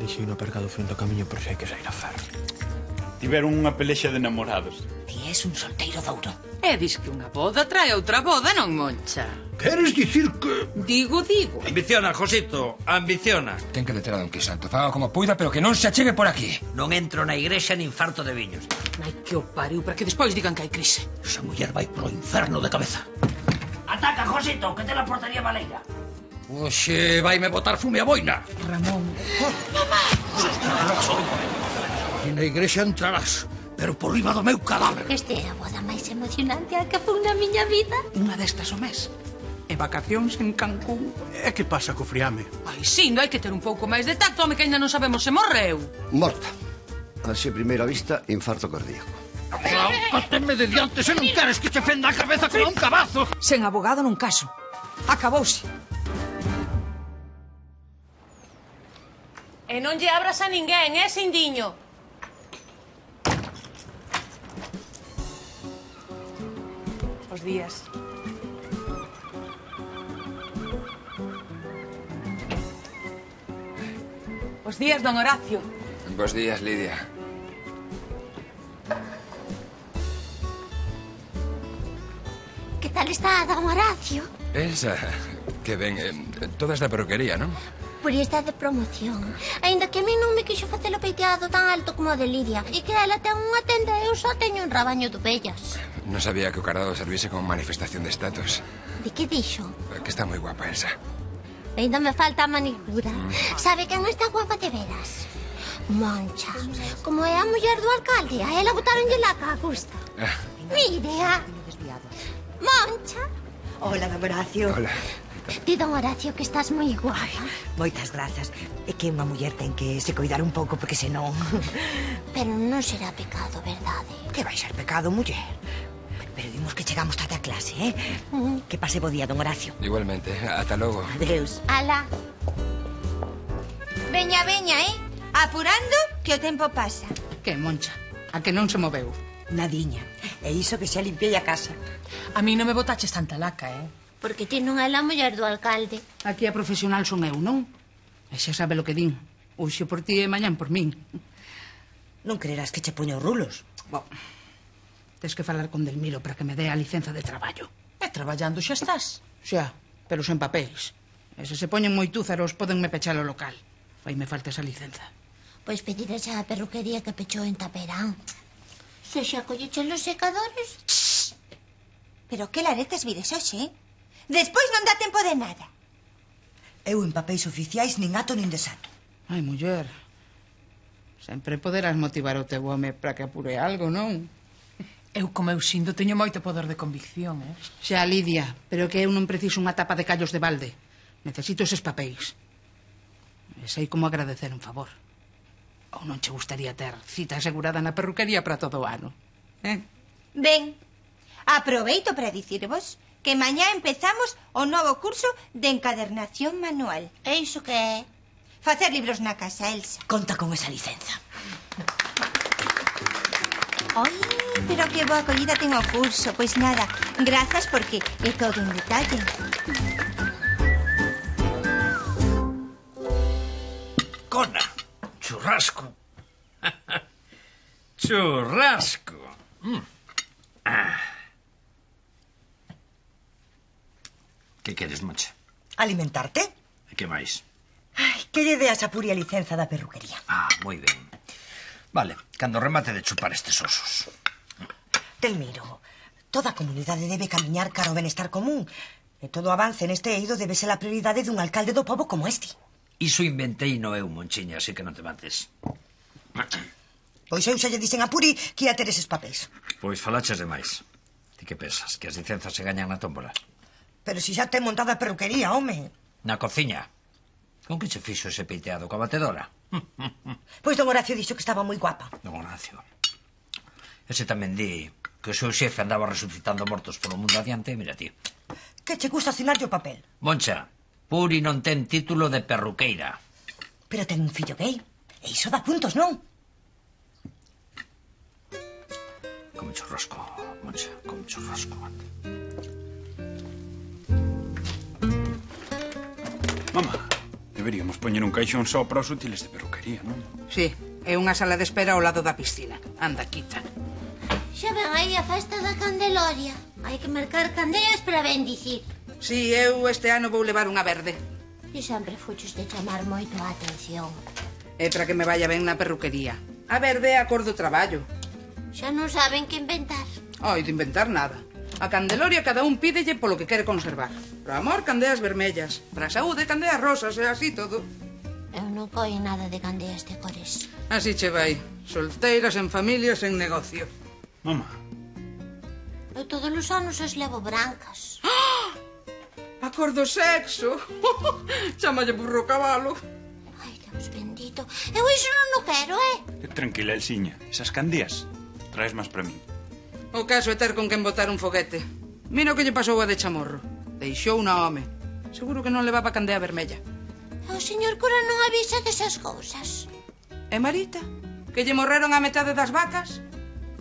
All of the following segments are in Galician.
Deixei no aparcado frente ao camiño por se hai que sair a ferro. Tiveron unha pelexa de namorados. Ti és un solteiro douro. E dis que unha boda trae outra boda, non, Moncha? Queres dicir que... Digo. Ambiciona, Josito, ambiciona. Ten que deter a Don Quisanto. Faga como puida, pero que non se achegue por aquí. Non entro na igrexa nin farto de viños. Ai, que o pariu, para que despois digan que hai crise. Esa muller vai pro inferno de cabeza. Ataca, Josito, que te la portaría baleira. Oxe, vaime botar fume a boina. Ramón. E na igrexa entrarás, pero por riba do meu cadáver. Esta é a boda máis emocionante a que fun na miña vida. Unha destas o mes. E vacacións en Cancún. E que pasa co friame? Ai, sim, hai que ter un pouco máis de tacto, home, que ainda non sabemos se morreu. Morta. Así a primeira vista, infarto cardíaco. Cóteme de diante se non queres que te fenda a cabeza como un cabazo. Sen abogado nun caso. Acabouse. E non lle abras a ninguén, Sindiño? Os días. Os días, don Horacio. Bos días, Lidia. Que tal está, don Horacio? Esa, que ben, toda esta perruquería, non? Por está de promoción. Ainda que a mí non me quixo facer o peiteado tan alto como o de Lidia. E que ela ten unha tenda e eu só teño un rabaño de ovellas. Non sabía que o cardado servise como manifestación de estatus. De que dixo? Que está moi guapa, Elsa. Ainda me falta a manicura. Sabe quen está guapa de veras? Moncha. Como é a muller do alcalde, a ela botaronlle la cagusta. Mire, Moncha. Hola, don Horacio. Hola. Di, don Horacio, que estás moi guapa. Moitas grazas. É que unha muller ten que se coidar un pouco porque senón... Pero non será pecado, verdade? Que vai ser pecado, muller? Pero vimos que chegamos tarde a clase, eh? Que pase bo día, don Horacio. Igualmente, ata logo. Adeus. Ala. Veña, apurando que o tempo pasa. Que, Moncha? A que non se moveu? Nadiña. E iso que xa limpiei a casa. A mí non me botaches tanta laca, Porque ti non é a muller do alcalde. Aquí a profesional son eu, non? E xa sabe lo que din. Hoxe por ti e mañán por min. Non creerás que che poño rulos. Bo, tes que falar con Delmiro para que me dé a licenza de traballo. E traballando xa estás. Xa, pero sen papéis. E se poñen moi túzaros, podenme pechar o local. Faime falta esa licenza. Pois pedirás á perruquería que pechou en Taperán. Se xa colleches los secadores... Pero que laretes vides hoxe, Despois non dá tempo de nada. Eu en papéis oficiais nin ato nin desato. Ai, muller, sempre poderás motivar o teu home para que apure algo, non? Eu, como eu sinto, teño moito poder de convicción, Xa, Lidia, pero que eu non preciso unha tapa de callos de balde. Necesito eses papéis. E sei como agradecer un favor. Ou non che gustaría ter cita asegurada na perruquería para todo o ano, Ben, aproveito para dicirvos que mañá empezamos o novo curso de encadernación manual. E iso que é? Facer libros na casa, Elsa. Conta con esa licenza. Ai, pero que boa acollida ten o curso. Pois nada, grazas porque é todo un detalle. Cona, churrasco. Churrasco. Que queres, Moncha? Alimentarte? E que máis? Ai, que lle deas a Puri a licenza da perruquería. Moi ben. Vale, cando remate de chupar estes osos. Delmiro, toda a comunidade debe camiñar cara ao benestar común. E todo avance neste eido debe ser a prioridade dun alcalde do pobo como este. Iso inventei no eu, Monchiña, así que non te mates. Pois eu xa lle dixen a Puri que ia ter eses papéis. Pois falaches demais. Ti que pensas, que as licenzas se gañan na tómbola? Pero si xa ten montada a perruquería, home. Na cociña. Con que che fixo ese peiteado coa batedora? Pois don Horacio dixo que estaba moi guapa. Don Horacio. Ese tamén di que o seu xefe andaba resucitando mortos polo mundo adiante, mira ti. Que che gusta asinarlle o papel? Moncha, Puri non ten título de perruqueira. Pero ten un fillo gay. E iso dá puntos, non? Come churrasco, Moncha, come churrasco. Mamá, Deberíamos poñer un caixón só para os útiles de perruquería, non? Sí, é unha sala de espera ao lado da piscina. Anda, quita. Xa ven aí a festa da Candeloria. Hai que mercar candeas para bendicir. Sí, eu este ano vou levar unha verde. E sempre fuches de chamar moito a atención. É para que me vaya ben na perruquería. A verde é a cor do traballo. Xa non saben que inventar. Ai, de inventar nada. A Candeloria cada un pídelle polo que quere conservar. Para amor, candeas vermellas. Para a saúde, candeas rosas e así todo. Eu non coi nada de candeas de cores. Así che vai. Solteiras, en familia, en negocio. Mamá. Eu todos os anos as levo brancas. ¡Ah! A cor do sexo. Chámalle burro cabalo. Ai, Deus bendito. Eu iso non o quero, Tranquila, Elsiña. Esas candeas traes máis para min. O caso é ter con quen botar un foguete. Mira o que lle pasou a de Chamorro. Deixou unha home. Seguro que non levaba candea vermella. O señor cura non avisa desas cousas. E Marita, que lle morreron a metade das vacas,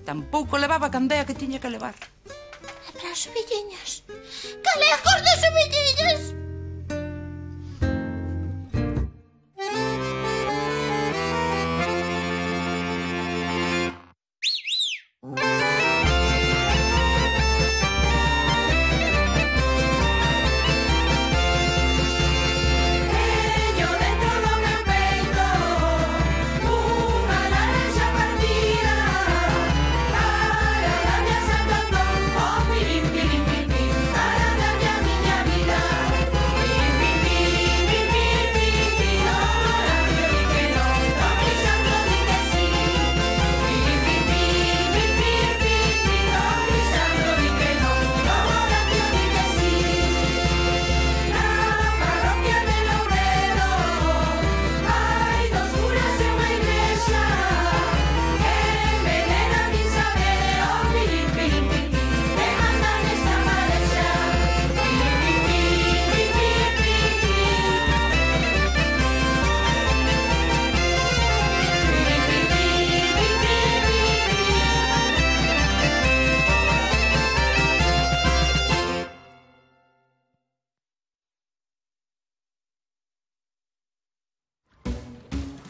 tampouco levaba candea que tiña que levar. E para as ovelliñas? Cal é a cor das ovelliñas?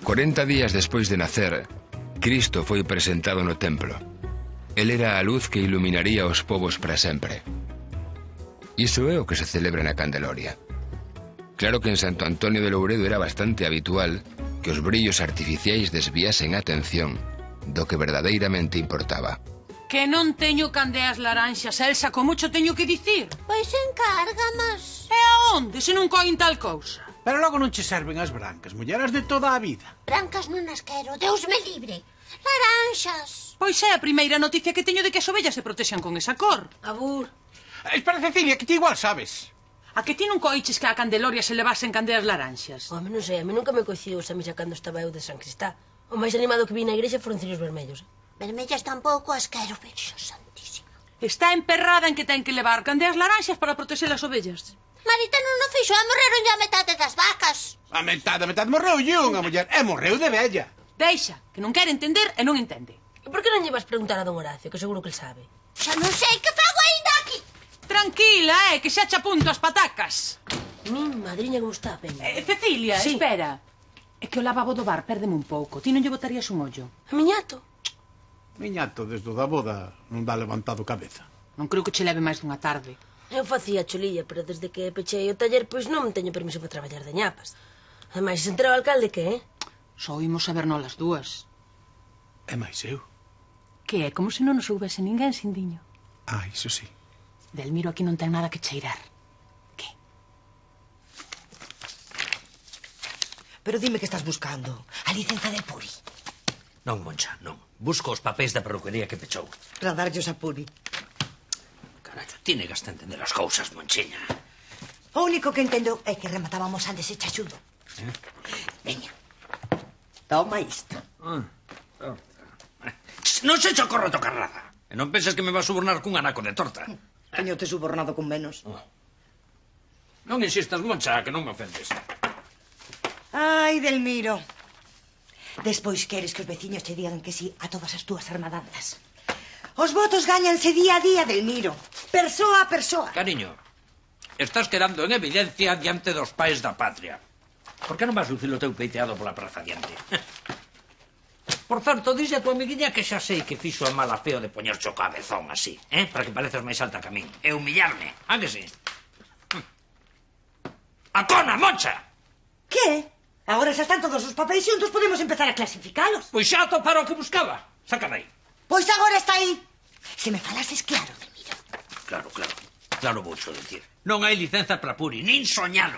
Cuarenta días despois de nacer, Cristo foi presentado no templo. El era a luz que iluminaría os povos para sempre. Iso é o que se celebra na Candeloria. Claro que en Santo Antonio de Louredo era bastante habitual que os brillos artificiais desviasen a atención do que verdadeiramente importaba. Que non teño candeas laranxas, Elsa, como mucho teño que dicir? Pois encárgamas. E aonde, se non coin tal cousa? Pero logo non che serven as brancas, mulleras de toda a vida. Brancas non as quero, Deus me libre. Laranxas. Pois é a primeira noticia que teño de que as ovellas se protexan con esa cor. Abur. Espera, Cecilia, que ti igual sabes. A que ti non coiches que a Candeloria se levasen candeas laranxas? Home, non sei, a mí nunca me coincidiu esa misa cando estaba eu de San Cristá. O máis animado que vi na igrexa foron cirios vermellos. Vermellas tampouco as quero, Virxo Santísima. Está emperrada en que ten que levar candeas laranxas para protexer as ovellas. Marita non o fixo, e morreron a metade das vacas. A metade morreu unha muller, e morreu de vella. Deixa, que non quere entender e non entende. E por que non lle vas preguntar a don Horacio, que seguro que el sabe? Xa non sei que fago ainda aquí. Tranquila, que xa che apunto as patacas. Mi madriña como está ben. Cecilia, sí. Espera. É que o lavabo do bar perdeme un pouco. Ti non lle botarías un ollo? A miñato? Miñato, desde o da boda, non dá levantado cabeza. Non creo que che leve máis dunha tarde. Eu facía cholilla, pero desde que pechei o taller, pois non teño permiso para traballar de ñapas. Ademais, se entera o alcalde, que é? Só oímos saber nolas dúas. E máis eu. Que é como se non nos houbese ninguén, Sindiño. Ah, iso sí. Delmiro aquí non ten nada que cheirar. Que? Pero dime que estás buscando. A licenza de Puri. Non, Moncha, non. Busco os papéis da perruquería que pechou. Para darllos a Puri. Carallo, ti negas a entender as cousas, Monchiña. O único que entendo é que rematábamos antes e chachudo. Veña. Toma isto. Non se che ocorre tocar nada. E non penses que me vas subornar cun anaco de torta. Teño-te subornado con menos. Non insistas, Moncha, que non me ofendes. Ai, Delmiro. Despois queres que os veciños te digan que sí a todas as túas armadanzas. Os votos gañanse día a día, Delmiro. Persoa a persoa. Cariño, estás quedando en evidencia diante dos pais da patria. Por que non vas lucir o teu peiteado pola praza diante? Por certo, dixe a tua amiguinha que xa sei que fixo a mala feo de poñercho o cabezón así, para que pareces máis alta que a min. E humillarme, a que sí? ¡A cona, Moncha! Que? Agora xa están todos os papeis xuntos, podemos empezar a clasificalos. Pois xa atopara o que buscaba. Sácame aí. Pois agora está aí. Se me falases claro, Delmiro. Claro, claro. Claro vouxo dicir. Non hai licenza para Puri, nin soñalo.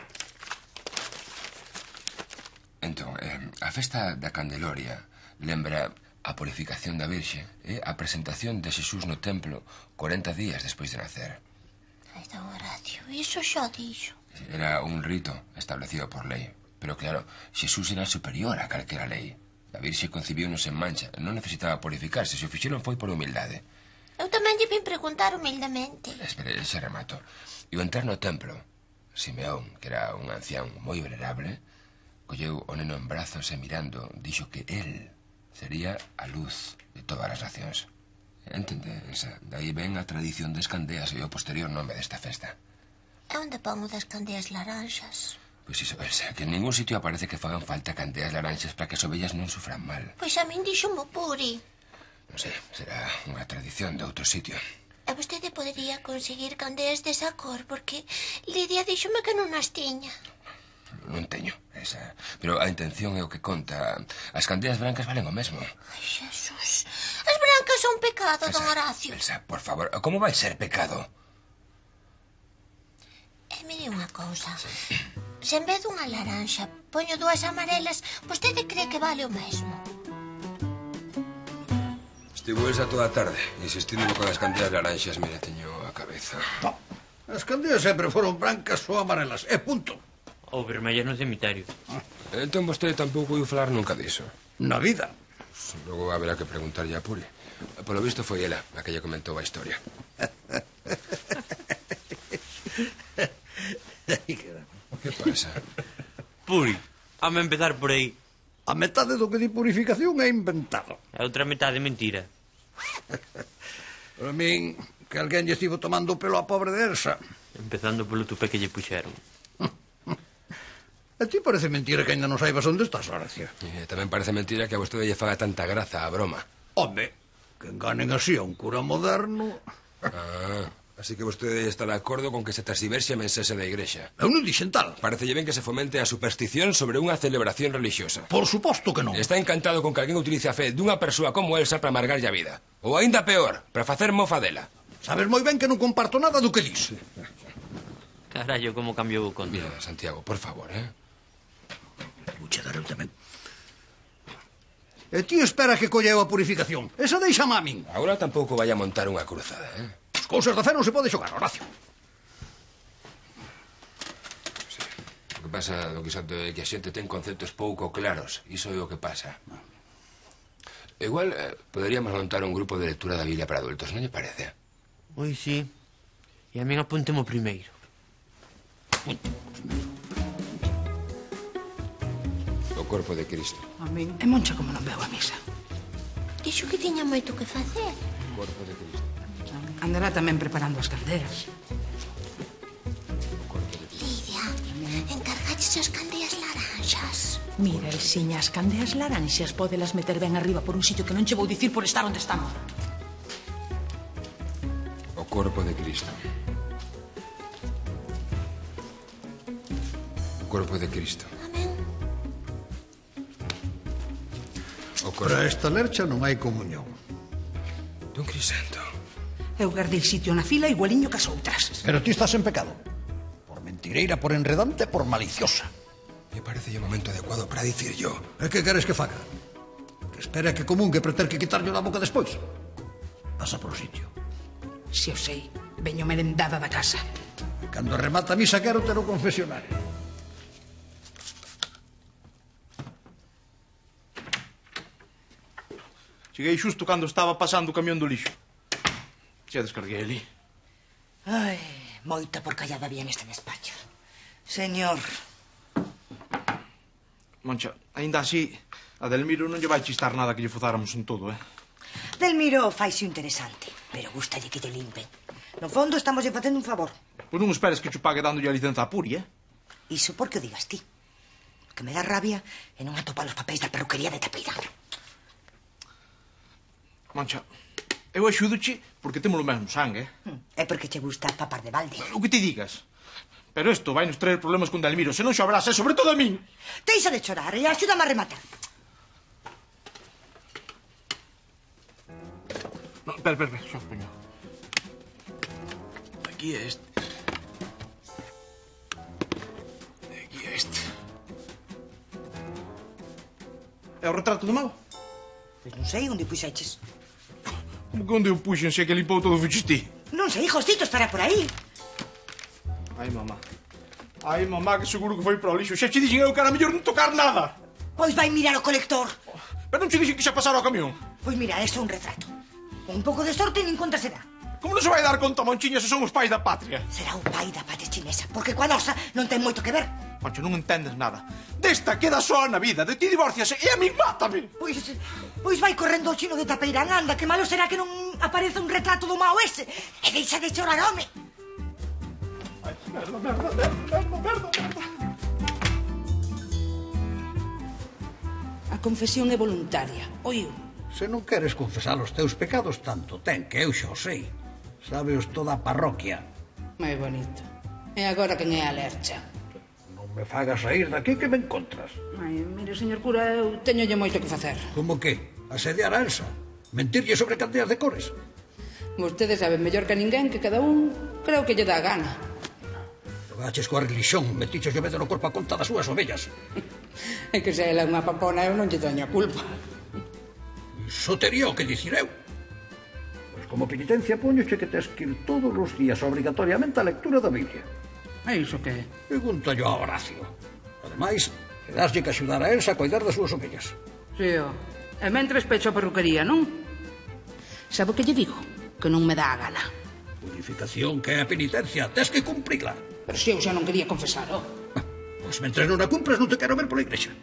Entón, a festa da Candeloria lembra a purificación da Virxe e a presentación de Xesús no templo 40 días despois de nacer. Ai, don Horacio, iso xa dixo. Era un rito establecido por lei. Pero claro, Xesús era superior a calquera lei. A Virxe concibiunos en mancha. Non necesitaba purificarse. Se o fixeron foi por humildade. Eu tamén lle vim preguntar humildemente. Espere, xa remato. E ao entrar no templo, Simeón, que era un ancián moi venerable, colleu o neno en brazos e mirando, dixo que él sería a luz de todas as nacións. Entendes? Daí ven a tradición das candeas e o posterior nome desta festa. E onde pon o das candeas laranxas? Pois iso, Elsa, que en ningún sitio aparece que fagan falta candeas laranxas para que as ovellas non sufran mal. Pois a min dixo mo Puri. Non sei, será unha tradición de outro sitio. E vostede podería conseguir candeas desa cor, porque Lidia díxome que non as tiña. Non teño, esa. Pero a intención é o que conta. As candeas brancas valen o mesmo. Ai, Xesús. As brancas son pecado, Elsa, don Horacio. Elsa, por favor, como vai ser pecado? E mire unha cousa. Se en vez dunha laranxa poño dúas amarelas, vostede cree que vale o mesmo? Estivo Elsa toda a tarde insistindo con as candeas laranxas. Mira, teño a cabeza. No, as candeas sempre foron brancas ou amarelas, e punto. Ou vermellas no cemiterio. Entón vostede tampouco iu falar nunca diso. Na vida. Logo haberá que preguntarlle a Puri. Polo visto foi ela a que lle comentou a historia. Que pasa? Puri, hame empezar por aí. A metade do que di purificación é inventado. A outra metade mentira. Para min, que alguén lle estivo tomando o pelo a pobre de Elsa. Empezando polo tupé que lle puxeron. A ti parece mentira que ainda non saibas onde estás, Horacio. Tamén parece mentira que a vostede lle faga tanta graza a broma. Home, que enganen así a un cura moderno. Así que vostede está de acordo con que se transverse a mensaxe da igrexa. Eu non dixen tal. Parecelle ben que se fomente a superstición sobre unha celebración religiosa. Por suposto que non. Está encantado con que alguén utilice a fe dunha persoa como Elsa para amargarlle a vida. Ou aínda peor, para facer mofa dela. Sabes moi ben que non comparto nada do que dis. Carallo, como cambiou o conto. Mira, Santiago, por favor, Puche dar eu tamén. E ti espera que colleu a purificación. Esa deixa a min. Agora tampouco vai a montar unha cruzada, As cousas da fe non se pode xogar, Horacio. Sí. O que pasa, don Quixote, é que a xente ten conceptos pouco claros. Iso é o que pasa. Igual poderíamos montar un grupo de lectura da Biblia para adultos, non lle parece? Oi, sí. E a min apuntemo primeiro. O corpo de Cristo. A min é Moncha como non veo a misa. Dixo que tiña moito que facer. O corpo de Cristo. Andará tamén preparando as candeas. Lidia, encargaches as candeas laranxas. Mira, Elsiña, as candeas laranxas pódelas meter ben arriba por un sitio que non che vou dicir por estar onde estamos. O corpo de Cristo. O corpo de Cristo. Amén. Para esta lercha non hai comunión. Don Crisanto. Eu guardei sitio na fila igualiño que as outras. Pero ti estás en pecado. Por mentireira, por enredante, por maliciosa. Me parece o momento adecuado para dicir yo. E que queres que faga? Que espere a que comungue para ter que quitarlle da boca despois? Pasa por o sitio. Se o sei, veño merendada da casa. Cando remata a misa quero ter o confesionario. Cheguei xusto cando estaba pasando o camión do lixo. Xa descarguei ali. Ai, moita porcallada había neste despacho. Señor. Moncha, aínda así, a Delmiro non lle vai chistar nada que lle fozáramos en todo, Delmiro faise interesante, pero gustalle que lle limpen. No fondo estamos lle facendo un favor. Pois non esperes que che pague dándolle a licenza a Puri, Iso porque o digas ti. O que me dá rabia é non atopar os papéis da perruquería de Tapeirán. Moncha, eu axúdoche porque temos o mesmo sangue, É porque che gusta papar de balde. O que te digas. Pero isto vai nos traer problemas con Delmiro, se non xobrás, e sobre todo a min. Deixa de chorar e axúdame a rematar. No, espera, xa poño. Aquí é este. E aquí é este. É o retrato do Mau? Pois non sei onde puxeches. Como que onde o puxen se é que limpou todo o fuchistí? Non sei, Josito, estará por aí. Ai, mamá, que seguro que foi para o lixo. Xa che dixen eu que era mellor non tocar nada. Pois vai mirar o colector. Pero non che dixen que xa pasara o camión. Pois mira, isto é un retrato. Con un pouco de sorte nin conta será. Como non se vai dar conta, Monchiña, se son os pais da patria? Será o pai da patria chinesa, porque coa nosa non ten moito que ver. Moncho, non entendes nada. Desta queda soa na vida, de ti divorciase e a min mátame. Pois vai correndo o chino de Tapeirán, anda, que malo será que non apareza un retrato do Mao ese. E deixa de chorar, home. Ai, merda. A confesión é voluntaria, oíu. Se non queres confesar os teus pecados tanto, ten que eu xa o sei. Sábeos toda a parroquia. Moi bonito. E agora quen é a lercha? Non me fagas sair daqui que me encontras. Ai, mire, señor cura, eu teñolle moito que facer. Como que? Asediar a Elsa? Mentirlle sobre candeas de cores? Vostedes saben mellor que ninguén que cada un creo que lle dá gana. Xogaches coa religión, metiches o medo no corpo a conta das súas ovellas. É que se ela é unha papona, eu non lle teño a culpa. Iso tería o que dicir eu. Pois como penitencia poñoche que tes que ir todos os días obrigatoriamente á lectura da Biblia. E iso que? Pregúntallo a Horacio. Ademais, teráslle que axudar a Elsa a cuidar das súas ovellas. Sí, e mentres pecho a perruquería, non? Sabe o que lle digo? Que non me dá a gana. Purificación que é a penitencia, tes que cumprila. Pero se eu xa non quería confesar, Pois mentres non a cumpras non te quero ver pola igrexa.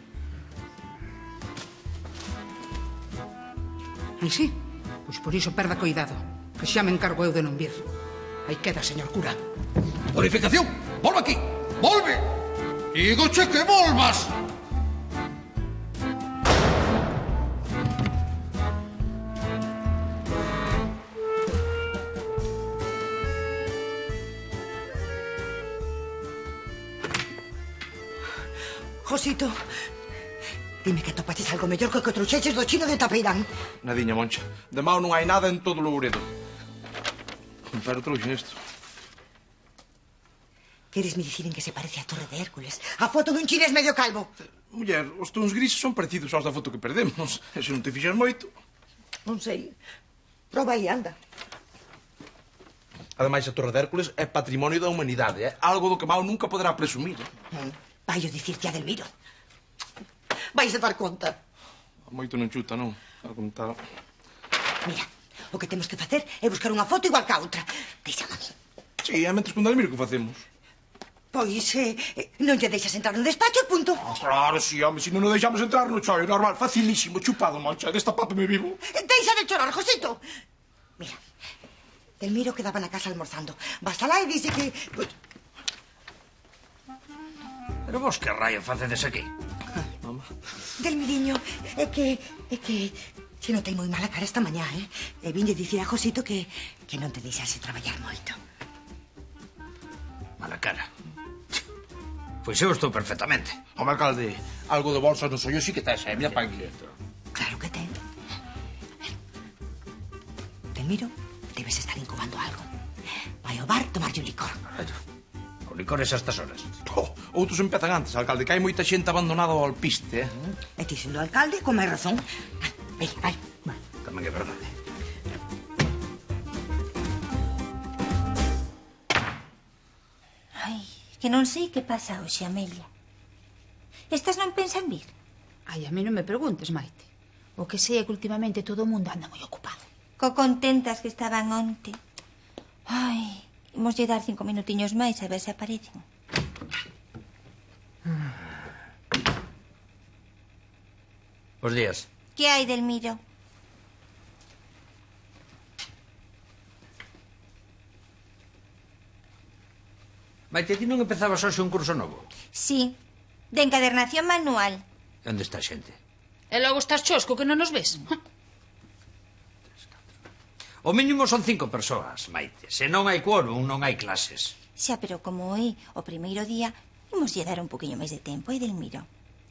Ai, sí? Pois por iso perda cuidado, que xa me encargo eu de non vir. Aí queda, señor cura. Purificación, volve aquí, volve. Dígoche que volvas. Josito, dime que atopaches algo mellor que o que trouxeches do chino de Tapeirán. Nadiña, Moncha. De Mau non hai nada en todo o Louredo. Pero trouxen isto. Queres me dicir en que se parece a Torre de Hércules? A foto dun chinés medio calvo. Muller, os tons grises son parecidos aos da foto que perdemos. E se non te fixas moito... Non sei. Proba aí, anda. Ademais, a Torre de Hércules é patrimonio da humanidade, algo do que Mau nunca poderá presumir. Vai o dicirte a Delmiro. Vais a dar conta. Moito non chuta, non? A contar... Mira, o que temos que facer é buscar unha foto igual que a outra. Deixame a mí. Sí, é mentres con Delmiro que facemos. Pois, non lle deixas entrar no despacho e punto. Claro, sí, home, se non o deixamos entrar no choio, normal, facilísimo, chupado, Moncha, destapápeme vivo. Deixa de chorar, Josito. Mira, Delmiro quedaba na casa almorzando. Vas alá e dice que... Pero vos que raio facedes aquí? Mamá. Delmiriño, é que se notei moi mala cara esta mañá, E vinlle dicir a Josito que non te deixase traballar moito. Mala cara. Pois eu estou perfectamente. Home, alcalde, algo de bolsas no soy sí que tes, mira pa aquí. Claro que ten. Delmiro, debes estar incubando algo. Vai ao bar tomarlle un licor. O licor es a estas horas. Outros empezan antes, alcalde, que hai moita xente abandonada ao alpiste, E ti sendo alcalde, con máis razón. Vai. Tamén é verdade. Ai, que non sei que pasa hoxe, Amelia. Estas non pensan vir? Ai, a mí non me preguntes, Maite. O que sei é que últimamente todo o mundo anda moi ocupado. Co contentas que estaban onte. Ai, imos lle dar 5 minutiños máis a ver se aparecen. Bos días. Que hai, Delmiro? Maite, ti non empezabas hoxe un curso novo? Sí, De encadernación manual. Onde está a xente? E logo estás chosco que non nos ves. O mínimo son 5 persoas, Maite. Se non hai quórum, non hai clases. Xa, pero como é o primeiro día, imos lle dar un poquinho máis de tempo, Edelmiro.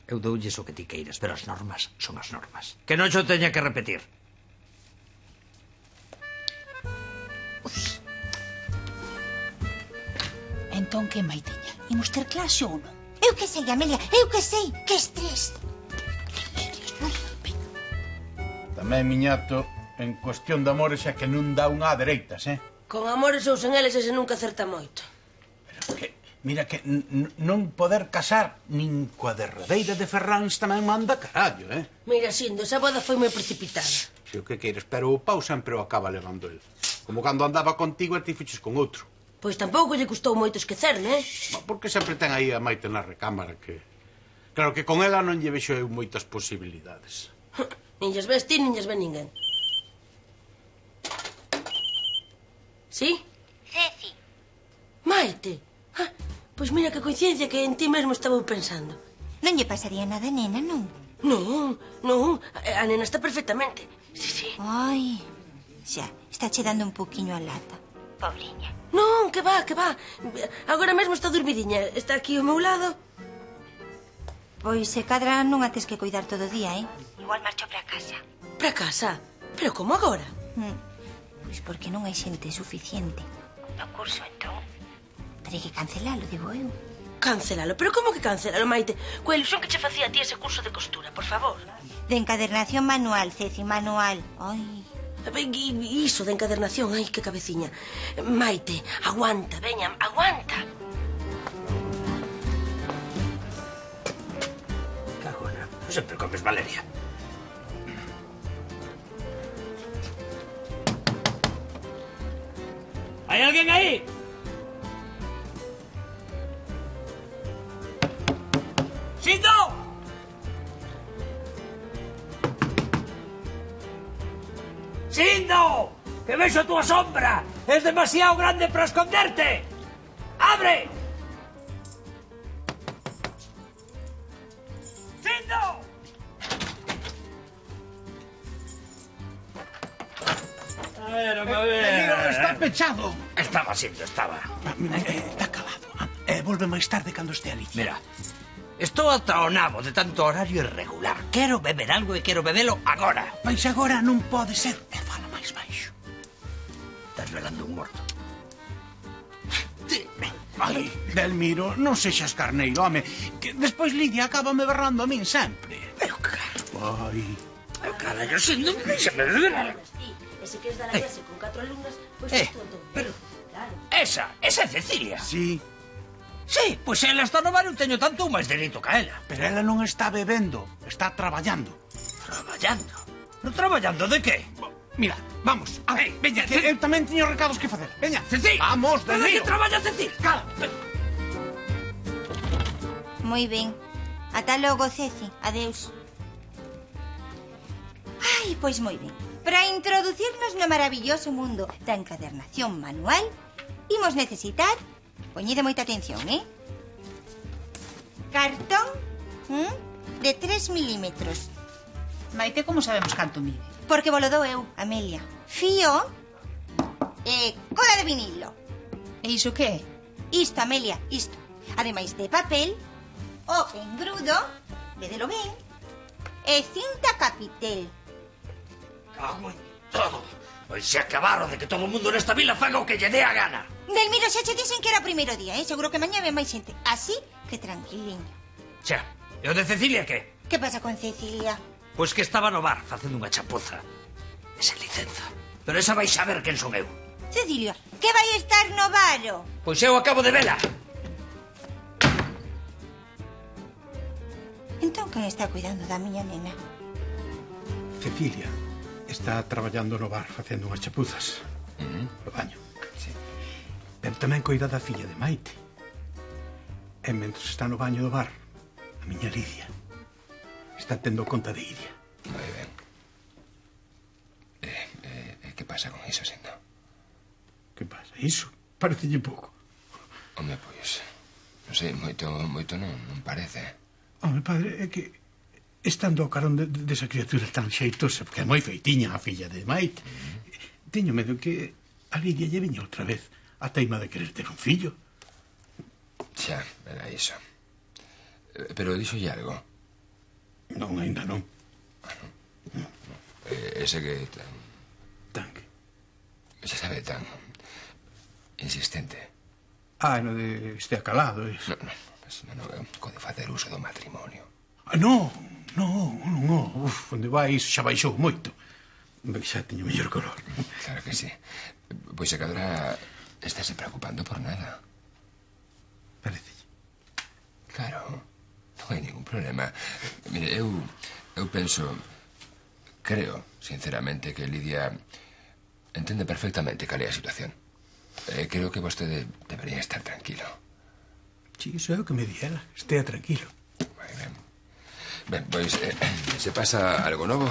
Eu doulles o que ti queiras, pero as normas son as normas. Que non xo teña que repetir. Entón que, Maiteña? Imos ter clase ou non? Eu que sei, Amelia, eu que sei. Que estrés. Tamén, miñato, en cuestión de amores é que non dá unha a dereitas, Con amores ou sen eles ese nunca acerta moito. Mira que non poder casar nin coa derradeira de Ferráns tamén manda carallo, Mira, Sindo, esa boda foi moi precipitada. Se o que queres, pero o pau sempre o acaba levando el. Como cando andaba contigo e ti fiches con outro. Pois tampouco lle custou moito esquecer, Porque sempre ten aí a Maite na recámara que... Claro que con ela non lle vexo eu moitas posibilidades. Nin lles ves ti, nin lles ve ninguén. Sí? Ceci. Maite. Pois mira que coincidencia que en ti mesmo estaba pensando. Non lle pasaría nada, nena, non? Non. A nena está perfectamente. Sí. Ai, xa, está che dando un poquinho a lata. Pobriña. Non, que va. Agora mesmo está dormidiña. Está aquí ao meu lado. Pois se cadra non a tes que cuidar todo o día, Igual marcho para casa. Para casa? Pero como agora? Pois porque non hai xente suficiente. No curso, entón. Terei que cancelalo, digo eu. Cancelalo? Pero como que cancelalo, Maite? Coa ilusión que che facía a ti ese curso de costura, por favor. De encadernación manual, Ceci, manual. Ai. Iso de encadernación, ai, que cabeciña. Maite, aguanta, veña, aguanta. Cagona, sempre comes Valeria. ¿Hay alguien ahí? ¡Sindo! ¡Sindo! ¡Que vexo a túa sombra! ¡Es demasiado grande para esconderte! ¡Abre! ¡Sindo! A ver. Está pechado. Estaba siendo, estaba. Está calado. Volve máis tarde cando este Alicia. Mira, estou ata o nabo de tanto horario irregular. Quero beber algo e quero bebelo agora. Pois agora non pode ser. E fala máis baixo. Estás velando un morto. Ai, Delmiro, non sexas carneiro, home. Que despois Lidia acaba me berrando a min sempre. Pero claro. Ai. Carallo, si non me deixame beber. E se queres dar a clase con 4 alumnas, pois tú entón. Pero... Esa é Cecilia. Sí. Sí, pois ela está no bar e teño tanto ou máis dereito ca ela. Pero ela non está bebendo, está traballando. Traballando? Pero traballando de que? Mira, vamos. Veña, que eu tamén teño recados que facer. Veña, Ceci. Vamos, del río. Que traballa Ceci? Cala. Moi ben. Ata logo, Ceci. Adeus. Ai, pois moi ben. Para introducirnos no maravilloso mundo da encadernación manual, imos necesitar, poñede moita atención, cartón de 3 milímetros. Maite, como sabemos canto mide? Porque volo dou eu, Amelia. Fío e cola de vinilo. E iso que é? Isto, Amelia, isto. Ademais de papel, o engrudo, vedelo ben, e cinta capitel. Cago en todo. Pois se acabaron de que todo o mundo nesta vila faga o que lle dé a gana. Delmiro, xa che dixen que era o primeiro día, Seguro que mañá ven máis xente. Así que tranquiliño. Xa, e o de Cecilia que? Que pasa con Cecilia? Pois que estaba no bar facendo unha chapuza. E sen licenza. Pero esa vai saber quen son eu. Cecilia, que vai estar no baro? Pois eu acabo de vela. Entón, quen está cuidando da miña nena? Cecilia está traballando no bar facendo unhas chapuzas. No baño. Sí. Pero tamén coida da filla de Maite. E mentres está no baño do bar, a miña Lidia está tendo conta de Iria. Moi ben. Que pasa con iso, Sindo? Que pasa? Iso? Parecelle pouco. Home, pois... Non sei, moito non parece. Home, padre, é que estando ao carón desa criatura tan xeitosa, porque é moi feitiña a filla de Maite, teño medo que a Lidia lle viña outra vez a teima de querer ter un fillo. Xa, era iso. Pero dixolle algo? Non, ainda non. Ese que... Tan que... Xa sabe, tan... insistente. No de este acalado, es... Non, co de facer uso do matrimonio. Non. Uf, onde vai iso xa baixou moito. Xa teño mellor color. Claro que sí. Pois a cadra estáse preocupando por nada. Parece. Claro, non hai ningún problema. Mire, eu penso... Creo, sinceramente, que Lidia entende perfectamente cal é a situación. Creo que vostede debería estar tranquilo. Sí, iso é o que me diera. Estea tranquilo. Moi ben. Ben, pois, se pasa algo novo,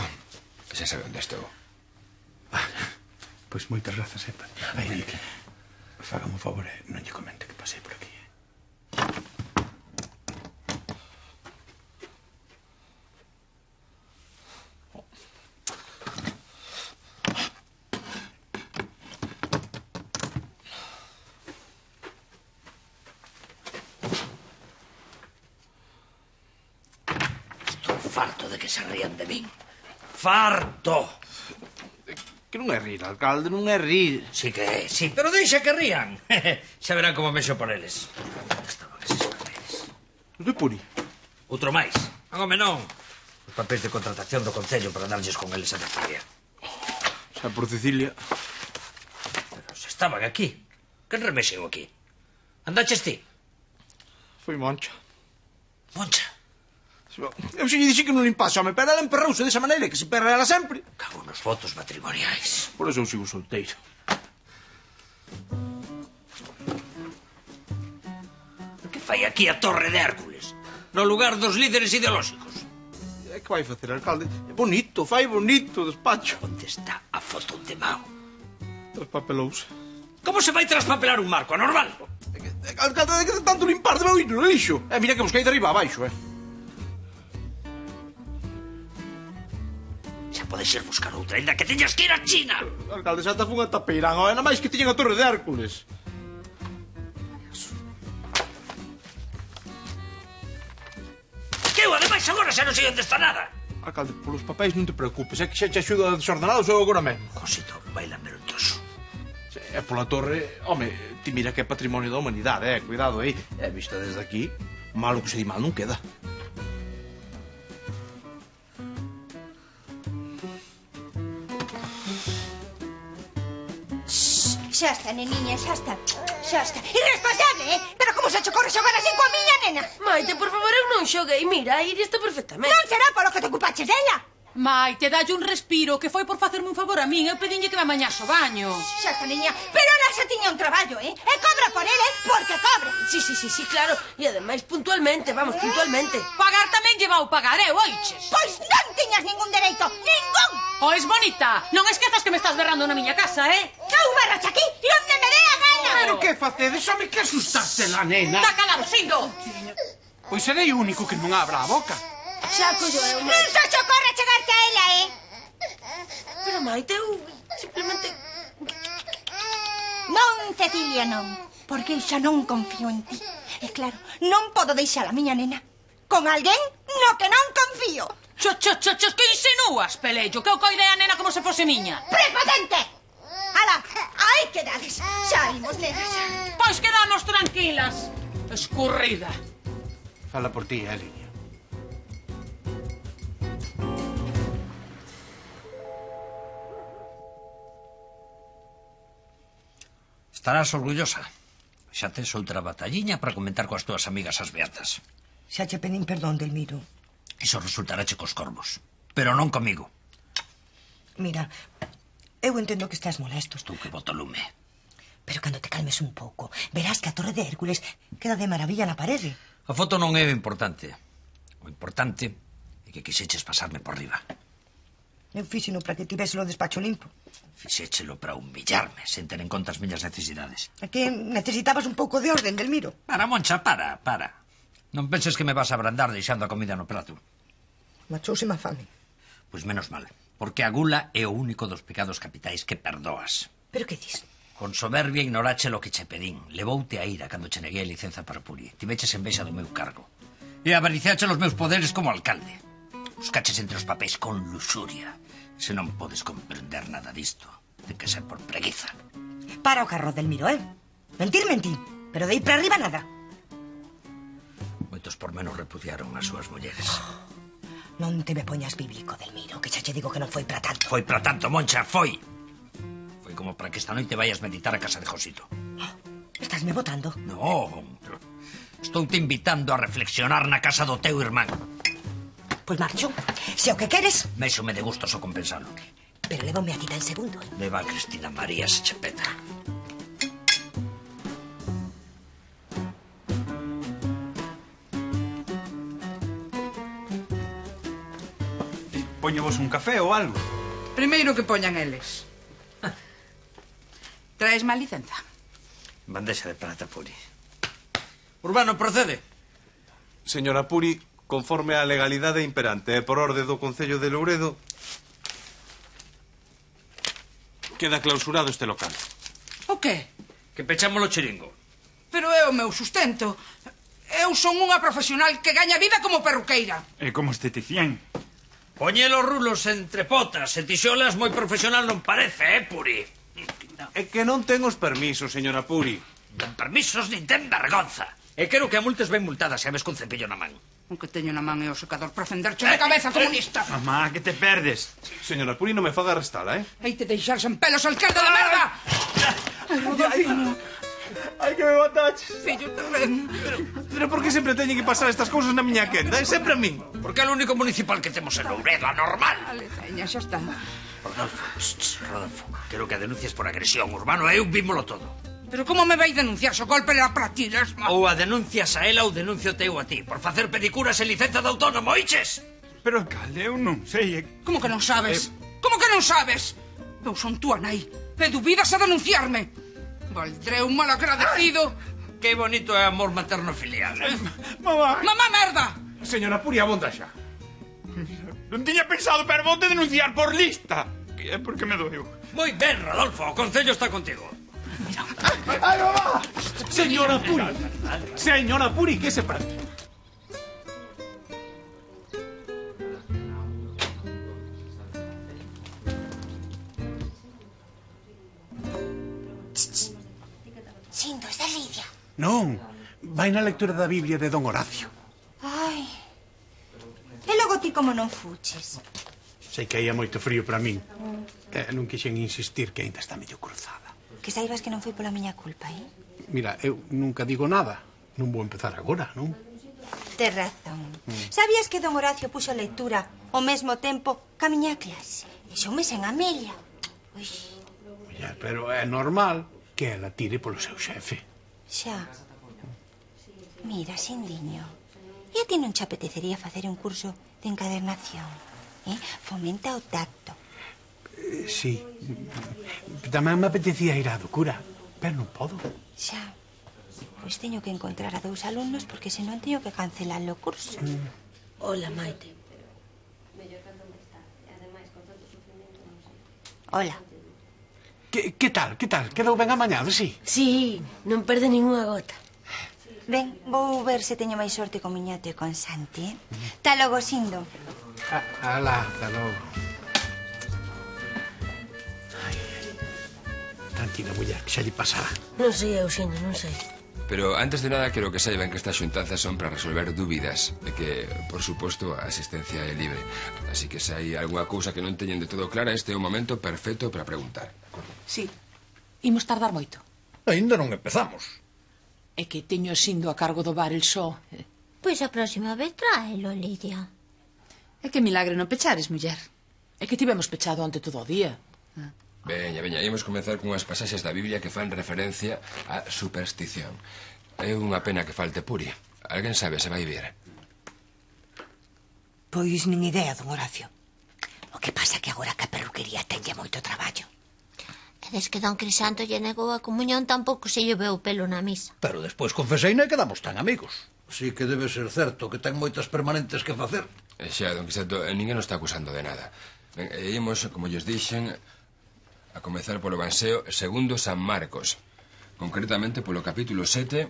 xa sabe onde estou. Pois moitas grazas, Epa. Aí, fágame un favor, non lle comente que pasei por aquí. Farto de que se rían de min. Farto. Que non é rir, alcalde, non é rir. Sí que é, sí, pero deixa que rían. Xa verán como mexo por eles. Estaban eses papeles. Os de Puri? Outro máis. Home, non. Os papeles de contratación do Concello para darlles con eles a Cecilia. Xa por Cecilia. Pero se estaban aquí. Que remexen aquí? Andaches ti? Foi Moncha. Moncha? Eu xe lle dixi que non limpase, home, pero ela emperrouse desa maneira que se emperra ela sempre. Cago nos votos matrimoniais. Por eso eu sigo solteiro. Que fai aquí a Torre de Hércules? No lugar dos líderes ideolóxicos. É que vai facer, alcalde? É bonito, fai bonito o despacho. Onde está a foto de Mao? Traspapelouse. Como se vai traspapelar un marco anormal? Alcalde, de que tanto limpar debeu ir no lixo. Mira que busquei de arriba abaixo, Podes ir buscar outra, ainda que teñas que ir a China. Alcalde, xa te fun a Tapeirán, nada máis que tiñen a Torre de Hércules. Que eu, ademais, agora xa non sei onde está nada. Alcalde, polos papéis non te preocupes, é que xa te axudo a desordenados eu agora mesmo. Josito, vai lamer un trozo. É pola torre, home, ti mira que é patrimonio da humanidade, cuidado aí. É vista desde aquí, malo que se di mal non queda. Xa está, neniña, xa está. Xa está. Irresponsable, Pero como se che corre xogar así coa miña nena? Maite, por favor, eu non xoguei. Mira, a Iria está perfectamente. Non será polo que te ocupaches dela. Maite, dalle un respiro, que foi por facerme un favor a min. Eu pedinlle que me amañase o baño. Xa está, niña. Pero ela xa tiña un traballo, E cobra por ele, porque cobra. Sí, claro. E ademais, puntualmente, vamos, puntualmente. Pagar tamén lleva o pagaré, oiches? Pois non tiñas ningún dereito, ningún. Pois, bonita, non esquezas que me estás berrando na miña casa, Eu berrache aquí e onde me dé a gana. Pero que facedes, home, que asustaste la nena? Está calado, Sindo. Pois serei o único que non abra a boca. Xa collo eu, Non só che ocorre chegarte a ela, Pero, Maite, eu simplemente... Non, Cecilia, non. Porque eu xa non confío en ti. E claro, non podo deixar a miña nena con alguén no que non confío. Que insinúas, Pelello? Que eu coide a nena como se fose miña. Prepotente! Ala, aí quedades. Xa imos, nenas. Pois quedamos tranquilas. Escurrida. Fala por ti, Lidia. Estarás orgullosa. Xa tes outra batalliña para comentar coas túas amigas as beatas. Xa che pedín perdón, Delmiro. Iso resultarache cos corvos. Pero non comigo. Mira, eu entendo que estás molesto. Tú que boto lume. Pero cando te calmes un pouco, verás que a Torre de Hércules queda de maravilla na parede. A foto non é o importante. O importante é que quixeches pasarme por riba. Eu fíxeno para que tivese o despacho limpo. Fixéchelo para humillarme, sen ter en conta as miñas necesidades. É que necesitabas un pouco de orden, Delmiro. Para, Moncha, para. Non penses que me vas a abrandar deixando a comida no prato. Machouse má fame. Pois menos mal, porque a gula é o único dos pecados capitais que perdoas. Pero que dis? Con soberbia ignorache lo que che pedín. Levoute a ira cando che neguei a licenza para Puri. Tiveches envexa do meu cargo. E avariciache os meus poderes como alcalde. Buscaches entre os papéis con luxuria. Se non podes comprender nada disto, ten que ser por preguiza. Para o carro, Delmiro, Mentir, mentí. Pero de aí para arriba nada. Moitos por menos repudiaron as súas mulleres. Non te me poñas bíblico, Delmiro, que xa che digo que non foi para tanto. Foi para tanto, Moncha, foi. Foi como para que esta noite vayas meditar a casa de Josito. Estásme botando? Non, estou te invitando a reflexionar na casa do teu irmán. Pois marcho. Se o que queres... Méxome de gusto só compensalo. Pero lévame a tita en segundo. Leva a Cristina María se chepeta. Póñevos un café ou algo. Primeiro que poñan eles. Traes má licenza? Bandexa de prata, Puri. Urbano, procede. Señora Puri, conforme á legalidade imperante e por orde do Concello de Louredo, queda clausurado este local. O qué? Que pechamos o chiringo. Pero é o meu sustento. Eu son unha profesional que gaña vida como perruqueira. E como esteticien. Poñe los rulos entre potas e tixolas moi profesional non parece, Puri? É que non ten os permisos, señora Puri. Non permisos nin ten vergonza. E quero que a multes ben multadas se a ves con cepillo na man. O que teño na man é o secador para fenderche de cabeza, comunista. Mamá, que te perdes? Señora Puri, non me faga arrestala, Aí te deixar sen pelos, alcalde de merda! Ai, Rodolfino. Ai, que me mataches. Fillo tamén. Pero por que sempre teñen que pasar estas cousas na miña quenda? É sempre a min. Porque é o único municipal que temos en Louredo, anormal. Vale, teña, xa está. Rodolfo, quero que a denuncies por agresión. Urbano, eu vímolo todo. Pero como me vai denunciar se o golpe era para ti, lesma? Ou a denuncias a ela ou denuncio teu a ti por facer pedicuras en licenza de autónomo, oiches? Pero, alcalde, eu non sei. Como que non sabes? Como que non sabes? Eu son túa nai. E dubidas a denunciarme. Valdré un mal agradecido. Que bonito é amor materno filial, Mamá. Mamá merda. Señora Puri, abonda xa. Non tiña pensado, pero vou te denunciar por lista. Que é porque me doeu. Moi ben, Rodolfo, o concello está contigo. ¡Ay, mamá! Señora Puri. Señora Puri, ¿qué se parte? Sindo, es de Lidia. Non, vai na lectura da Biblia de Don Horacio. Ai. E logo ti como non fuches? Sei que aí é moito frío para min. Non quixen insistir que ainda está medio cruzada. Que saibas que non foi pola miña culpa, Mira, eu nunca digo nada. Non vou empezar agora, non? Tes razón. Sabías que Don Horacio puxo a lectura ao mesmo tempo que a miña clase? E son mes en Amelia. Ui. Ya, pero é normal que ela tire polo seu xefe. Xa. Mira, Sindiño, e a ti non che apetecería facer un curso de encadernación? Fomenta o tacto. Sí. Tamén me apetecía ir á do cura, pero non podo. Xa. Pois teño que encontrar a 2 alumnos porque senón teño que cancelar o curso. Hola, Maite. Hola. Que tal? Quedou ben amañado, sí? Sí, non perde ninguna gota. Ben, vou ver se teño máis sorte con Miñato e con Santi, Ta logo, Sindo. Alá, ta logo. Tranquila, muller, que xa lle pasará. Non sei, Eusebio, non sei. Pero antes de nada quero que saiban que estas xuntanzas son para resolver dúbidas e que, por suposto, a asistencia é libre. Así que se hai algunha cousa que non teñen de todo clara, este é o momento perfecto para preguntar. Sí. Imos tardar moito. Ainda non empezamos. É que teño Sindo a cargo do bar el só. Pois a próxima vez tráelo, Lidia. É que milagre non pechares, muller. É que tivemos pechado onte todo o día. Veña, imos comenzar cunhas pasaxes da Biblia que fan referencia á superstición. É unha pena que falte Puri. Alguén sabe se vai vir? Pois nin idea, don Horacio. O que pasa que agora que a perruquería tenlle moito traballo. E des que don Crisanto lle negou a comunión tampouco se lle veu pelo na misa. Pero despois confeseina e quedamos tan amigos. Si que debe ser certo que ten moitas permanentes que facer. Xa, don Quiseto, ninguén nos está acusando de nada. Ben, ímos, como lles dixen, a comezar polo Evanxeo segundo San Marcos. Concretamente polo capítulo 7,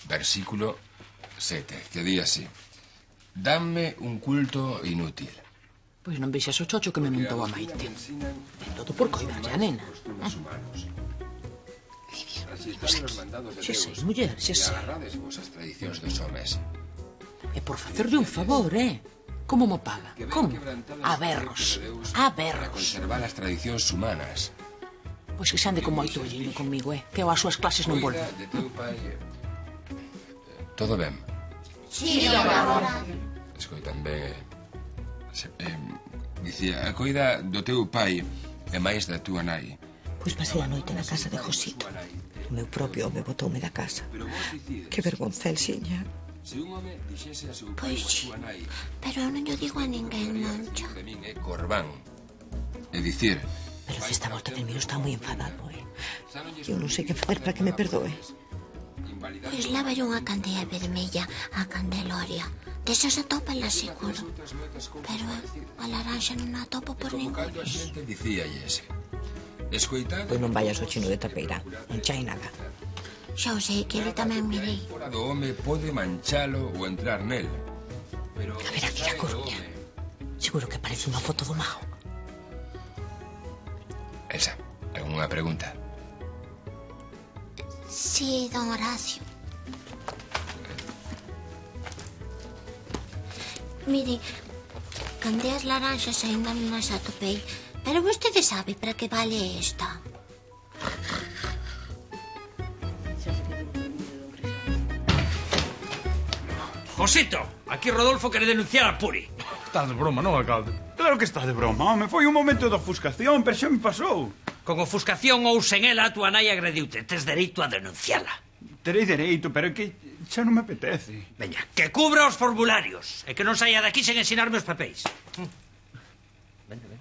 versículo 7, que di así: Dame un culto inútil. Pois non vexas o chocho que me montou a Maite. É todo por coidarlle a nena. Xa sei, muller, xa sei. Agarrades vosas tradicións dos homes. É por facerlle un favor, Como mo paga? Como? A berros. A Para berros. conservar as tradicións humanas. Pois que se ande con moito olleiro comigo, que eu ás súas clases non volvo. De teu pai... Todo ben? Sí, agora. Escoitan ben, dicía, a coida do teu pai e máis da túa nai. Pois pasei a noite na casa de Josito. O meu propio home botoume da casa. Que vergonza, Elxiña. Pois sí, pero eu non lle digo a ninguén, Moncho. De min é Corbán. É dicir... Pero que esta volta del Miro está moi enfadado, Eu non sei que facer para que me perdoe. Pois lávalle unha candea vermella a Candeloria. Desas atópala seguro. Pero a laranxa non a atopo por ningún. A xente dicíalles: escoitade... Pois non vayas ao chino de Tapeirán, non chai nada. Xa o sei que ele tamén me di. Fora do home pode manchalo ou entrar nel. A ver aquí a Coruña. Seguro que parece unha foto do mago. Elsa, algunha pregunta? Sí, don Horacio. Mire, candeas laranxas ainda non as atopei, pero vostede sabe para que vale esta. Josito, aquí Rodolfo quere denunciar a Puri. Estás de broma, non, alcalde? Claro que estás de broma, home. Foi un momento de ofuscación, pero xa me pasou. Con ofuscación ou sen ela, a túa nai agrediute. Tes dereito a denunciala. Terei dereito, pero é que xa non me apetece. Veña, que cubra os formularios e que non saia daqui sen ensinarme os papéis. Vente.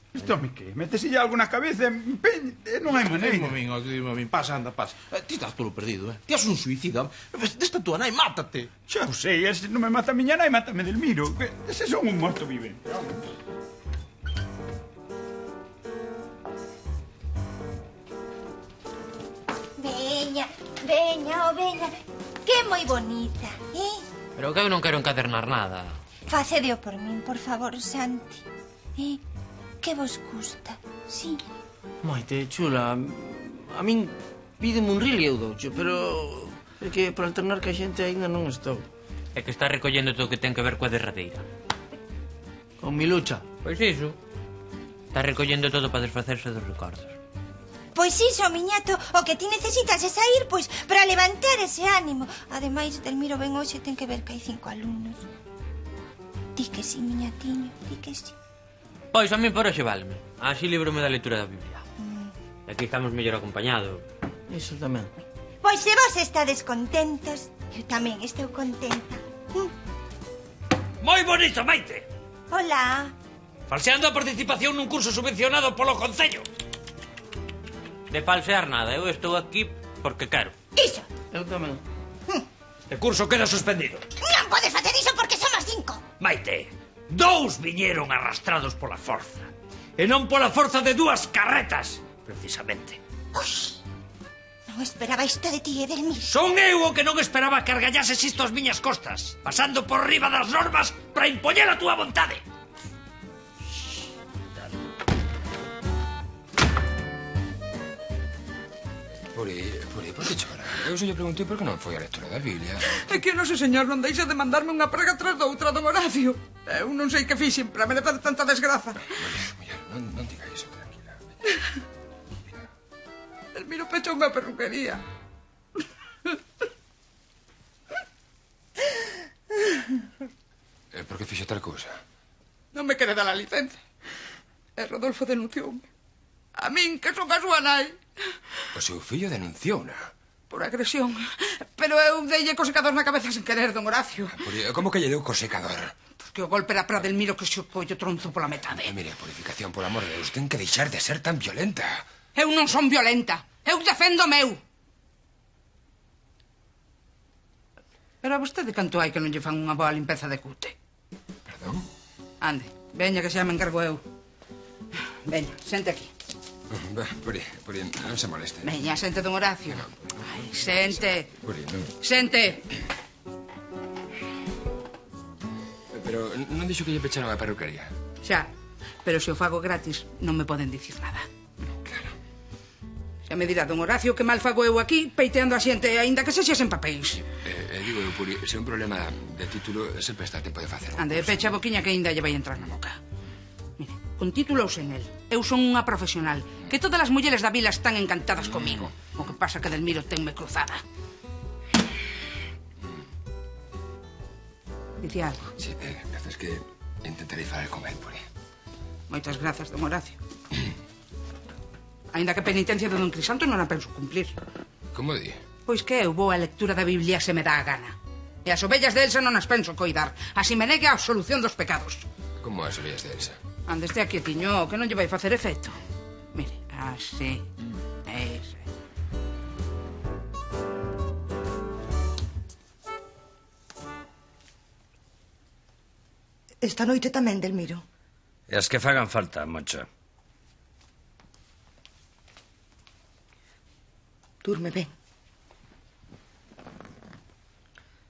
Isto me que? Métese algo na cabeza non hai maneira. Dime a min, pasa, anda, pasa. Ti estás todo perdido, Ti és un suicida. Desta tua nai, mátate. Xa o sei, se non me mata a miña nai, mátame del Miro. Ese son un morto vivente. Veña, que moi bonita, Pero que eu non quero encadernar nada. Facedeo por min, por favor, Santi. Que vos gusta, sí? Maite, chula, a min pídeme un ril e eu doucho, pero é que por alternar que a xente aínda non estou. É que está recollendo todo o que ten que ver coa derradeira. Con Milucha? Pois iso. Está recollendo todo para desfacerse dos recordos. Pois iso, miñato, o que ti necesitas é sair, pois, para levantar ese ánimo. Ademais, Delmiro ben hoxe ten que ver que hai 5 alumnos. Di que sí, miñatiño, di que sí. Pois a min por hoxe válme. Así librome da lectura da Biblia. Aquí estamos mellor acompañados. Iso tamén. Pois se vos estades contentos, eu tamén estou contenta. Moi bonito, Maite. Hola. Falseando a participación nun curso subvencionado polo Concello. De falsear nada, eu estou aquí porque quero. Iso. Eu tamén. Este curso queda suspendido. Non podes facer iso porque somos 5. Maite, 2 viñeron arrastrados pola forza. E non pola forza de 2 carretas, precisamente. Ui, non esperaba isto de ti, Edelmiro. Son eu o que non esperaba que argallases isto ás miñas costas, pasando por riba das normas para impoñer a túa vontade. Puri, por que chora? Eu se lle preguntei por que non foi a lectura da Biblia. É que o noso señor non deixa de mandarme unha praga tras doutra, don Horacio. Eu non sei que fixen para merecer tanta desgraza. Muller, non diga iso, tranquila. Delmiro pechou unha perruquería. Por que fixo tal cousa? Non me quere dar a licenza. E Rodolfo denuncioume. A min, que son a súa nai. O seu fillo denunciou-na. Por agresión. Pero eu deille co secador na cabeza sen querer, don Horacio. Como que lle deu co secador? Porque o golpe era para Delmiro que se collo tronzo pola metade. Mire, Purificación, por amor de Deus, ten que deixar de ser tan violenta. Eu non son violenta. Eu defendo o meu. Pero a vostede canto hai que non lle fan unha boa limpeza de cute? Perdón? Ande, veña que xa me encargo eu. Veña, sente aquí. Puri, non se moleste. Veña, sente, don Horacio. Ai, sente. Puri, non... Sente. Pero non dixo que lle pecharon a perruquería. Xa, pero se o fago gratis non me poden dicir nada. Claro. Xa me dirá don Horacio que mal fago eu aquí peiteando a xente, aínda que sexa sen papéis. Digo eu, Puri, se é un problema de título, sempre está a tempo de facer. Ande, pecha a boquiña que aínda lle vai entrar na boca. Mire, con título ou sen el, eu son unha profesional, que todas as mulleres da vila están encantadas comigo. O que pasa que Delmiro tenme cruzada. Dice algo? Sí, gracias que intentarei falar con el, Puri. Moitas grazas, don Horacio. Aínda que a penitencia de don Crisanto non a penso cumplir. Como di? Pois que eu vou a lectura da Biblia se me dá a gana. E as ovellas de Elsa non as penso coidar. Así me negue a absolución dos pecados. Como as ovellas de Elsa? Ande este aquí, tiño, que non lle vai facer efecto. Mire, así. Ese. Esta noite tamén, Delmiro. E as que fagan falta, Moncha. Durme ben.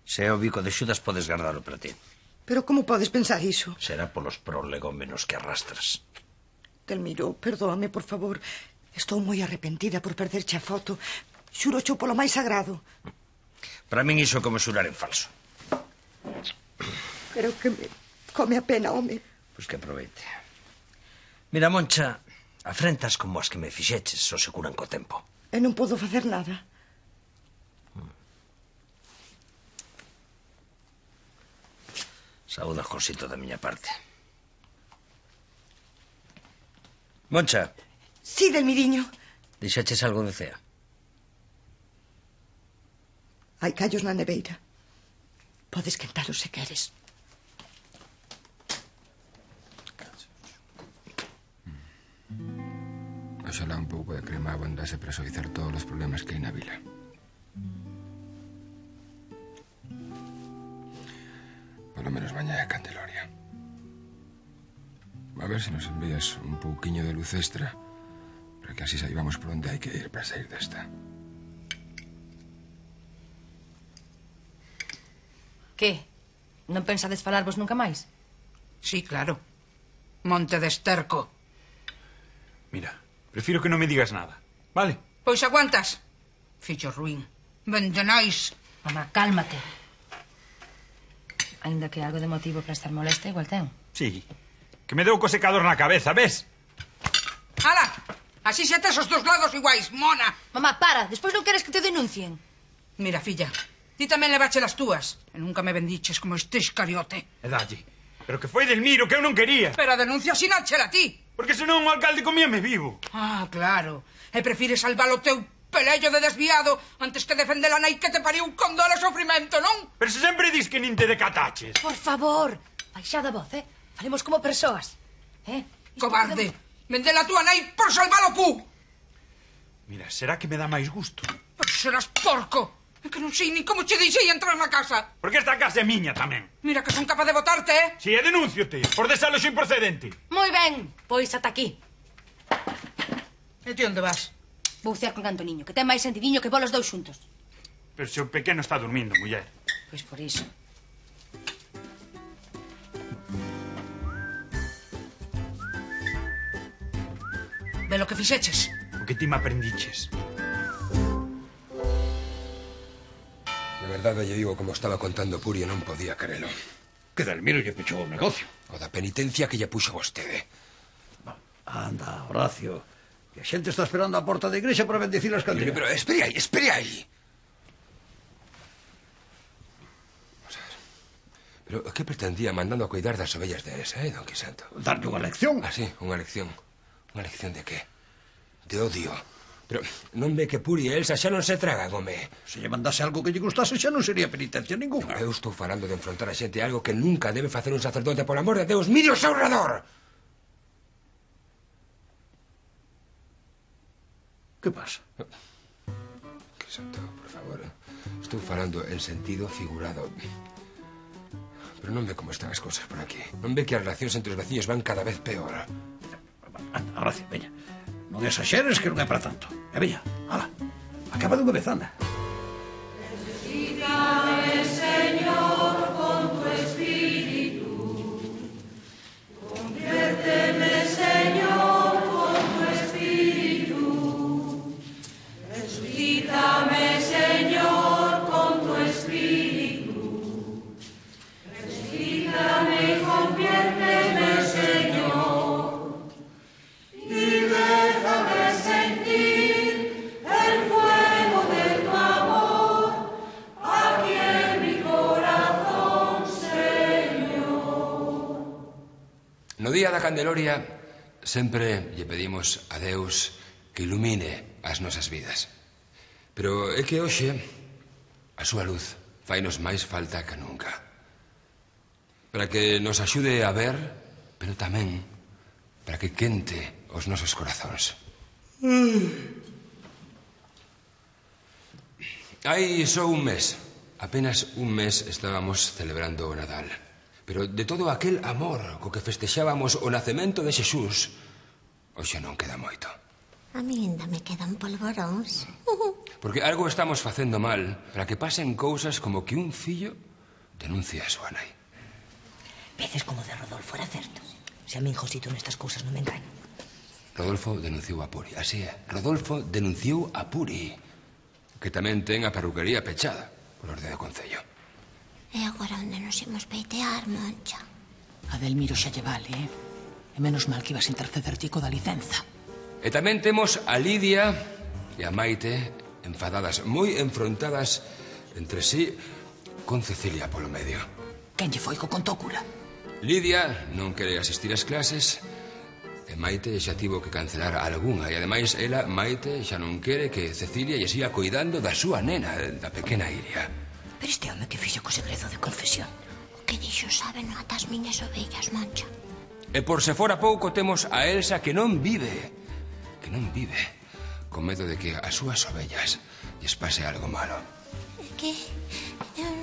Se é o bico de Xudas, podes guardalo para ti. Pero como podes pensar iso? Será polos prolegómenos que arrastras. Delmiro, perdóame, por favor. Estou moi arrepentida por perderche a foto. Xuro xo polo máis sagrado. Para min iso é como xurar en falso. Pero que me come a pena, home. Pois que aproveite. Mira, Moncha, afrentas como as que me fixeches só se curan co tempo. E non podo facer nada. Saúda, Josito, da miña parte. Moncha. Sí, Delmiriño. Dixeches algo de cea? Hai callos na neveira. Podes quentalos se queres. Oxalá un pouco de crema abondase para suavizar todos os problemas que hai na vila. Polo menos mañá é Candeloria. A ver se nos envías un pouquiño de luz extra para que así saibamos por onde hai que ir para sair desta. Que? Non pensades falarvos nunca máis? Sí, claro. Monte de Esterco. Mira, prefiro que non me digas nada, vale? Pois aguantas. Fillo ruín. Vendenais. Mamá, cálmate. Ainda que algo de motivo para estar molesta igual ten. Sí, que me deu co secador na cabeza, ves? ¡Hala! Así xa tes os dos lados iguais, mona. Mamá, para, despois non queres que te denuncien. Mira, filla, ti tamén levache las túas. E nunca me bendiches como este iscariote. E dalle. Pero que foi Delmiro, que eu non quería. Pero a denuncia sináchela ti. Porque senón o alcalde comíame vivo. Ah, claro. E prefires salvar o teu pelello de desviado antes que defender a nai que te pariu con dor e sofrimento, non? Pero se sempre dis que nin te decataches. Por favor, baixada a voz, Falemos como persoas. Cobarde. Vende a túa nai por salvar o cu. Mira, será que me dá máis gusto? Pero serás porco. É que non sei nin como che deixei entrar na casa. Porque esta casa é miña tamén. Mira que son capaz de botarte, Si, e denunciote, por desaloxo improcedente. Moi ben, pois ata aquí. E ti onde vas? Vou cear con Antoniño, que ten máis sentidiño que vos os dous xuntos. Pero se o pequeno está dormindo, muller. Pois por iso. Ve lo que fixeches. O que ti me aprendiches. De verdade lle digo como estaba contando Puri e non podía querelo. Que Delmiro lle pechou o negocio. O da penitencia que lle puxo vostede. Anda, Horacio, que a xente está esperando a porta da igrexa para bendecir as candelas. Pero espere aí. Vamos a ver. Pero que pretendía mandando a cuidar das ovellas de Elsa, don Quisanto? Darlle unha lección. Ah, sí, unha lección. Unha lección de qué? De odio. Pero non ve que Puri e Elsa xa non se tragan, home. Se lle mandase algo que lle gustase xa non sería penitencia ninguna. Eu estou falando de enfrontar a xente a algo que nunca debe facer un sacerdote, por amor de Deus. Mire o seu redor. Que pasa? Que Santo, por favor. Estou falando en sentido figurado. Pero non ve como están as cousas por aquí. Non ve que as relacións entre os veciños van cada vez peor. Anda, Horacio, veña. Non exaxeres que non é para tanto. E veña, ala, acaba dunha vez, anda. Resucítame, Señor, con tu espíritu. Conviérteme, Señor, con tu espíritu. Resucítame, Señor, con tu espíritu. Resucítame y conviérteme, Señor. Y déjame sentir el fuego de tu amor aquí en mi corazón, Señor. No día da Candeloria sempre lle pedimos a Deus que ilumine as nosas vidas. Pero é que hoxe a súa luz fainos máis falta que nunca. Para que nos axude a ver, pero tamén para que quente os nosos corazóns. Hai só un mes, apenas un mes estábamos celebrando o Nadal. Pero de todo aquel amor co que festexábamos o nacemento de Xesús, hoxe non queda moito. A mí ainda me quedan polvoróns. Porque algo estamos facendo mal para que pasen cousas como que un fillo denuncia a súa nai. Veces como de Rodolfo era certo. Se a min, Josito, nestas cousas non me engaño. Rodolfo denunciou a Puri, así é. Rodolfo denunciou a Puri, que tamén ten a perruquería pechada por orde do Concello. E agora onde nos imos peitear, Moncha? A Delmiro xa lle vale, E menos mal que ibas a interceder tico da licenza. E tamén temos a Lidia e a Maite enfadadas, moi enfrontadas entre sí, con Cecilia polo medio. Quen lle foi co contou cura? Lidia non quere asistir ás clases e Maite xa tivo que cancelar algunha. E ademais ela, Maite, xa non quere que Cecilia lle siga cuidando da súa nena, da pequena Iria. Pero este home que fixo co segredo de confesión? O que dixo sabe non ata as miñas ovellas, Moncha. E por se fora pouco temos a Elsa que non vive, con medo de que as súas ovellas lles pase algo malo. É que eu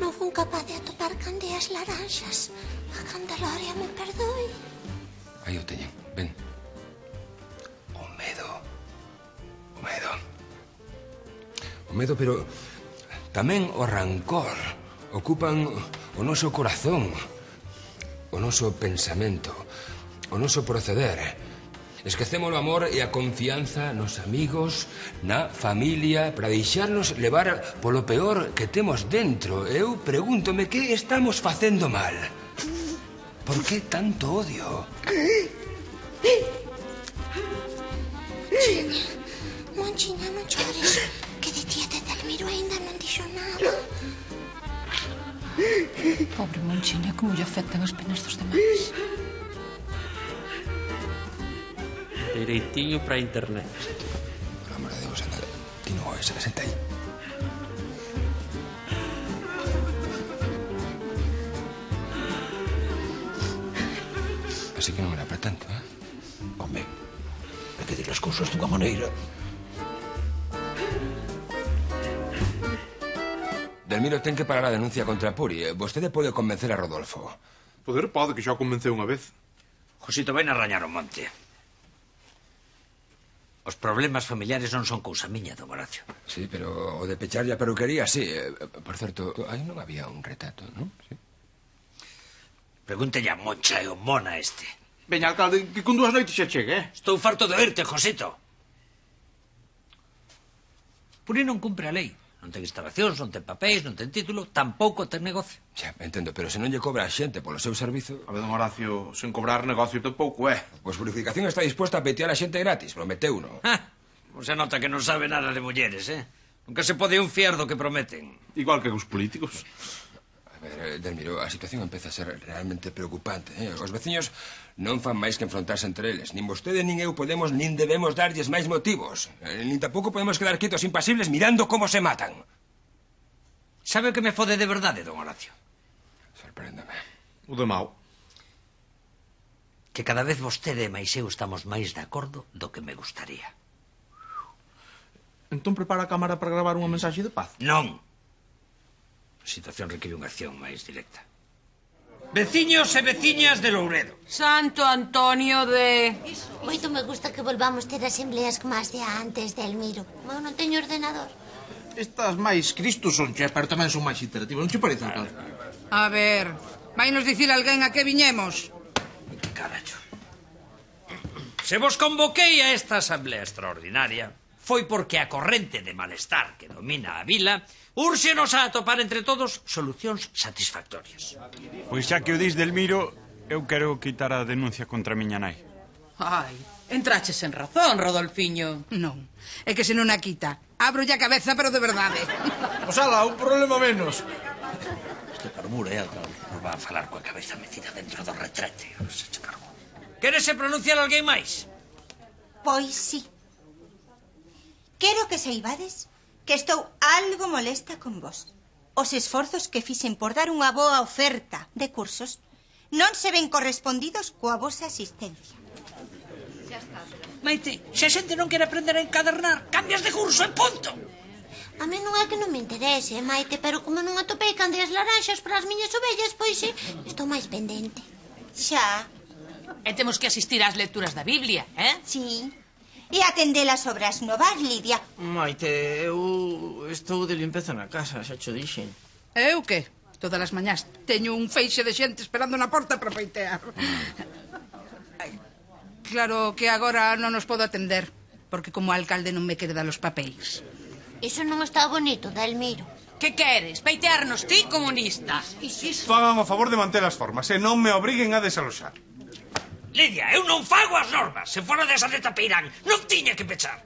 non fun capaz de atopar candeas laranxas. A Candeloria me perdoe. Aí o teñen, ven. O medo. O medo, pero tamén o rancor ocupan o noso corazón, o noso pensamento, o noso proceder. Esquecemos o amor e a confianza nos amigos, na familia, para deixarnos levar polo peor que temos dentro. Eu pregúntome que estamos facendo mal. Por que tanto odio? Monchiña, non chores, que de tía de Delmiro aínda non dixo nada. Pobre Monchiña, como lle afectan as penas dos demais. Dereitinho para internet. Por amor de Deus, anda. Ti non oes, senta aí. Así que non era para tanto, Home, hai que dir as cousas dunha maneira. Delmiro ten que parar a denuncia contra Puri. Vostede pode convencer a Rodolfo. Poder pode, que xa o convenceu unha vez. Josito, ven a rañar o monte. Os problemas familiares non son cousa miña, don Horacio. Sí, pero o de pecharlle a peruquería, sí. Por certo, aí non había un retrato, non? Sí. Pregúntelle a Moncha e o mona este. Veña, alcalde, que con 2 noites xa chegue, Estou farto de oírte, Josito. Puri non cumpre a lei. Non ten instalacións, non ten papéis, non ten título, tampouco ten negocio. Xa, entendo, pero se non lle cobra a xente polo seu servizo... A ver, don Horacio, sen cobrar negocio tampouco é. Pois Purificación está disposta a petear a xente gratis, prometeu, non? Se nota que non sabe nada de mulleres, Nunca se pode un fiar do que prometen. Igual que os políticos. A ver, Delmiro, a situación empeza a ser realmente preocupante, Os veciños non fan máis que enfrontarse entre eles. Nin vostede nin eu podemos nin debemos darlles máis motivos. Nin tampouco podemos quedar quietos impasibles mirando como se matan. Sabe o que me fode de verdade, don Horacio? Sorpréndeme. O de mau. Que cada vez vostede e máis eu estamos máis de acordo do que me gustaría. Entón prepara a cámara para gravar unha mensaxe de paz. Non. A situación requiere unha acción máis directa. Veciños e veciñas de Louredo. Santo Antonio de... Moito me gusta que volvamos ter asembleas como as de antes, Delmiro. Como eu non teño ordenador. Estas máis Cristo son, che, pero tamén son máis interactivas. Non che parece, alcalde? A ver, vai nos dicir alguén a que viñemos? Que caracho. Se vos convoquei a esta asamblea extraordinaria foi porque a corrente de malestar que domina a vila úrxenos a atopar entre todos solucións satisfactorias. Pois xa que o dis, Delmiro, eu quero quitar a denuncia contra a miña nai. Ai, entraches en razón, Rodolfiño. Non, é que se non a quita, abro a cabeza, pero de verdade. Pois ala, un problema menos. Este carbura, alcalde. Nos va a falar coa cabeza metida dentro do retrete. Se che cargo. Quérese pronunciar alguén máis? Pois sí. Quero que saibades que estou algo molesta con vos. Os esforzos que fixen por dar unha boa oferta de cursos non se ven correspondidos coa vosa asistencia. Maite, se a xente non quere aprender a encadernar, cambias de curso en punto. A mí non é que non me interese, Maite, pero como non atopei candeas laranxas para as miñas ovellas, pois estou máis pendente. Xa. E temos que asistir ás lecturas da Biblia, eh? Sí. E atender as obras novas, Lidia. Maite, eu estou de limpeza na casa, xa cho dixen. Eu que? Todas as mañás teño un feixe de xente esperando na porta para feitear. Claro que agora non nos podo atender, porque como alcalde non me quere dar os papéis. Iso non está bonito, Delmiro. Que queres? Peitearnos ti, comunista? Fagan o favor de manter as formas e non me obriguen a desaloxar. Lidia, eu non fago as normas. Se fora desa de Tapeirán, non tiña que pechar.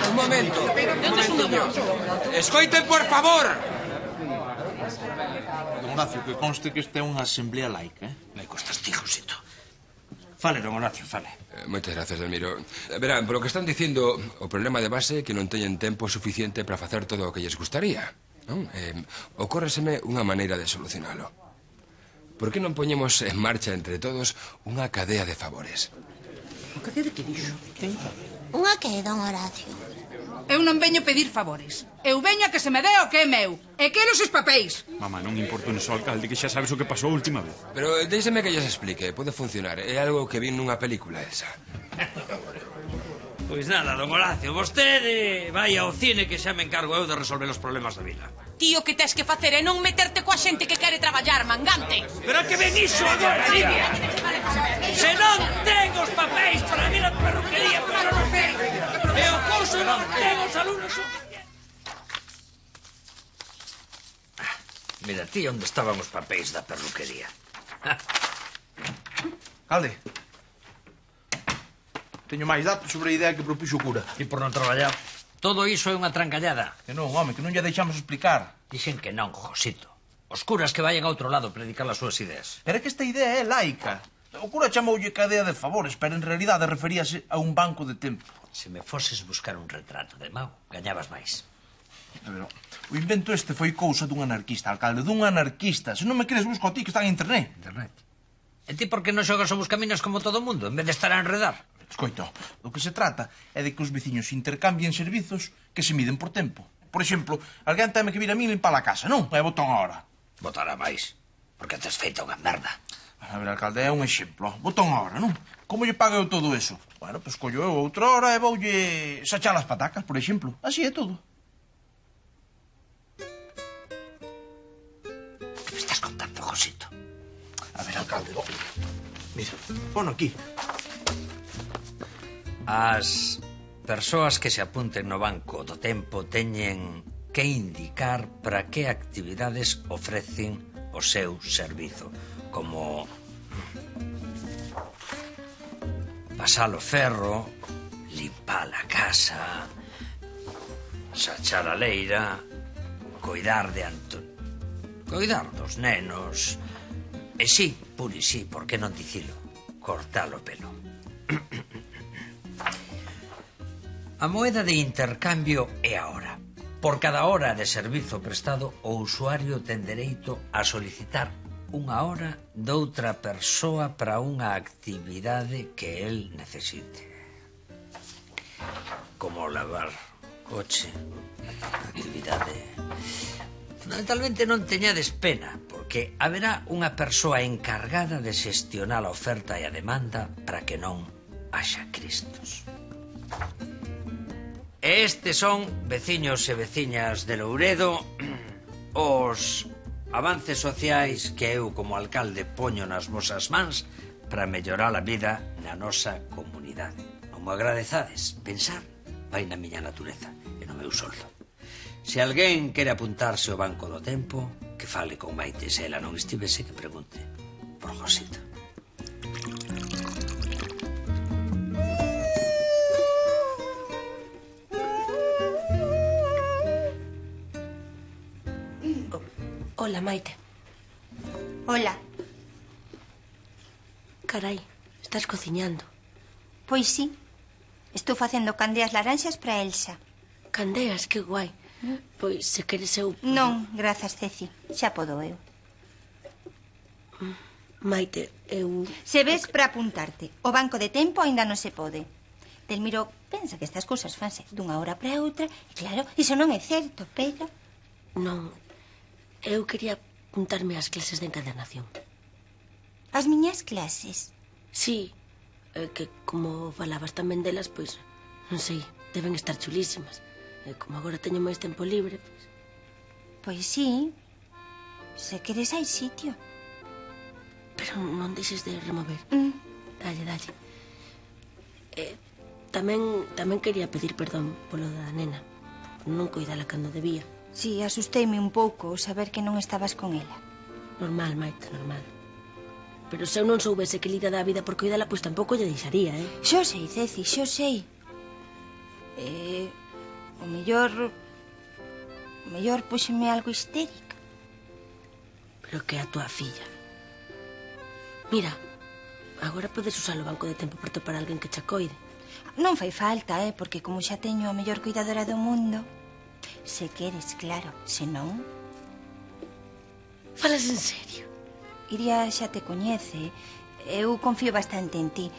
Un momento. Escoiten, por favor. Don Horacio, que conste que esta é unha asamblea laica, Me costas ti, Josito. Fale, don Horacio, fale. Moitas gracias, Delmiro. Verán, polo que están dicindo, o problema de base é que non teñen tempo suficiente para facer todo o que lles gustaría, non? Ocórreseme unha maneira de solucionalo. Por que non poñemos en marcha entre todos unha cadea de favores? O cadea de que dixo? Unha que, don Horacio? Eu non veño pedir favores. Eu veño a que se me dé o que é meu. E quero os papéis. Mamá, non importa un só, alcalde, que xa sabes o que pasou a última vez. Pero déixeme que lles explique. Pode funcionar. É algo que vin nunha película esa. Pois nada, don Horacio, vostede vai ao cine que xa me encargo eu de resolver os problemas da vila. Tío, que tes que facer é non meterte coa xente que quere traballar, mangante. Pero que ven iso agora, Lidia? Se non ten os papéis para vir a perruquería, pero non ten. E o curso non ten os alumnos suficientes. Mira, ti, onde estaban os papéis da perruquería? Alde, teño máis datos sobre a idea que propuxo o cura. E por non traballar? Todo iso é unha trancallada. Que non, home, que non lle deixamos explicar. Dixen que non, Josito. Os curas que vayan a outro lado a predicar as súas ideas. Pero é que esta idea é laica. O cura chamoulle cadea de favores, pero en realidade referíase a un banco de tempo. Se me foses buscar un retrato de Mao, gañabas máis. Pero o invento este foi cousa dun anarquista, alcalde, dun anarquista. Se non me crees, busco a ti, que está en internet. Internet? E ti por que non xogas o buscaminas como todo o mundo, en vez de estar a enredar? Escoito, do que se trata é de que os veciños intercambien servizos que se miden por tempo. Por exemplo, alguén teme que vir a mí limpar a casa, non? E botan a hora. Botar a máis, porque tes feito unha merda. A ver, alcalde, é un exemplo. Botan a hora, non? Como lle pago eu todo eso? Bueno, pois collo eu outra hora e voulle sachar as patacas, por exemplo. Así é todo. Que me estás contando, Josito? A ver, alcalde, mira, pon aquí. As persoas que se apunten no banco do tempo teñen que indicar para que actividades ofrecen o seu servizo, como pasar o ferro, limpar a casa, sachar a leira, coidar dos nenos, e sí, puri sí, por que non dicilo, cortar o pelo. A moeda de intercambio é a hora. Por cada hora de servizo prestado, o usuario ten dereito a solicitar unha hora doutra persoa para unha actividade que el necesite. como lavar coche, actividade. Fundamentalmente non teñades pena, porque haberá unha persoa encargada de xestionar a oferta e a demanda para que non haxa cristos. Estes son, veciños e veciñas de Louredo, os avances sociais que eu como alcalde poño nas vosas mans para mellorar a vida na nosa comunidade. Non me agradezades, pensar vai na miña natureza e no meu soldo. Se alguén quere apuntarse ao Banco do Tempo, que fale con Maite. Se ela non estivese, que pregunte por Josito. Hola, Maite. Hola. Carai, estás cociñando. Pois sí. Estou facendo candeas laranxas para Elsa. Candeas, que guai. Pois, se queres eu... Non, grazas, Ceci. Xa podo eu. Maite, eu... Se ves para apuntarte. O Banco de Tempo aínda non se pode. Delmiro pensa que estas cousas fanse dunha hora para outra. E claro, iso non é certo, pero... Non, eu quería apuntarme ás clases de encadernación. As miñas clases? Sí, que como falabas tamén delas, pois, non sei, deben estar chulísimas. E como agora teño máis tempo libre, pois... Pois sí, se queres hai sitio. Pero non deixes de remover. Dalle. Tamén quería pedir perdón polo da nena. Non coidala cando debía. Sí, asusteime un pouco saber que non estabas con ela. Normal, Maite, normal. Pero se eu non soubese que lida da vida por coidala, pois tampouco lle deixaría, eh? Xo sei, Ceci, xo sei. O mellor púxeme algo histérica. Pero que a tua filla. Mira, agora podes usar o Banco de Tempo para topar alguén que che coide. Non fai falta, porque como xa teño a mellor cuidadora do mundo... Se queres, claro, se non... Falas en serio? Iria xa te coñece. Eu confío bastante en ti.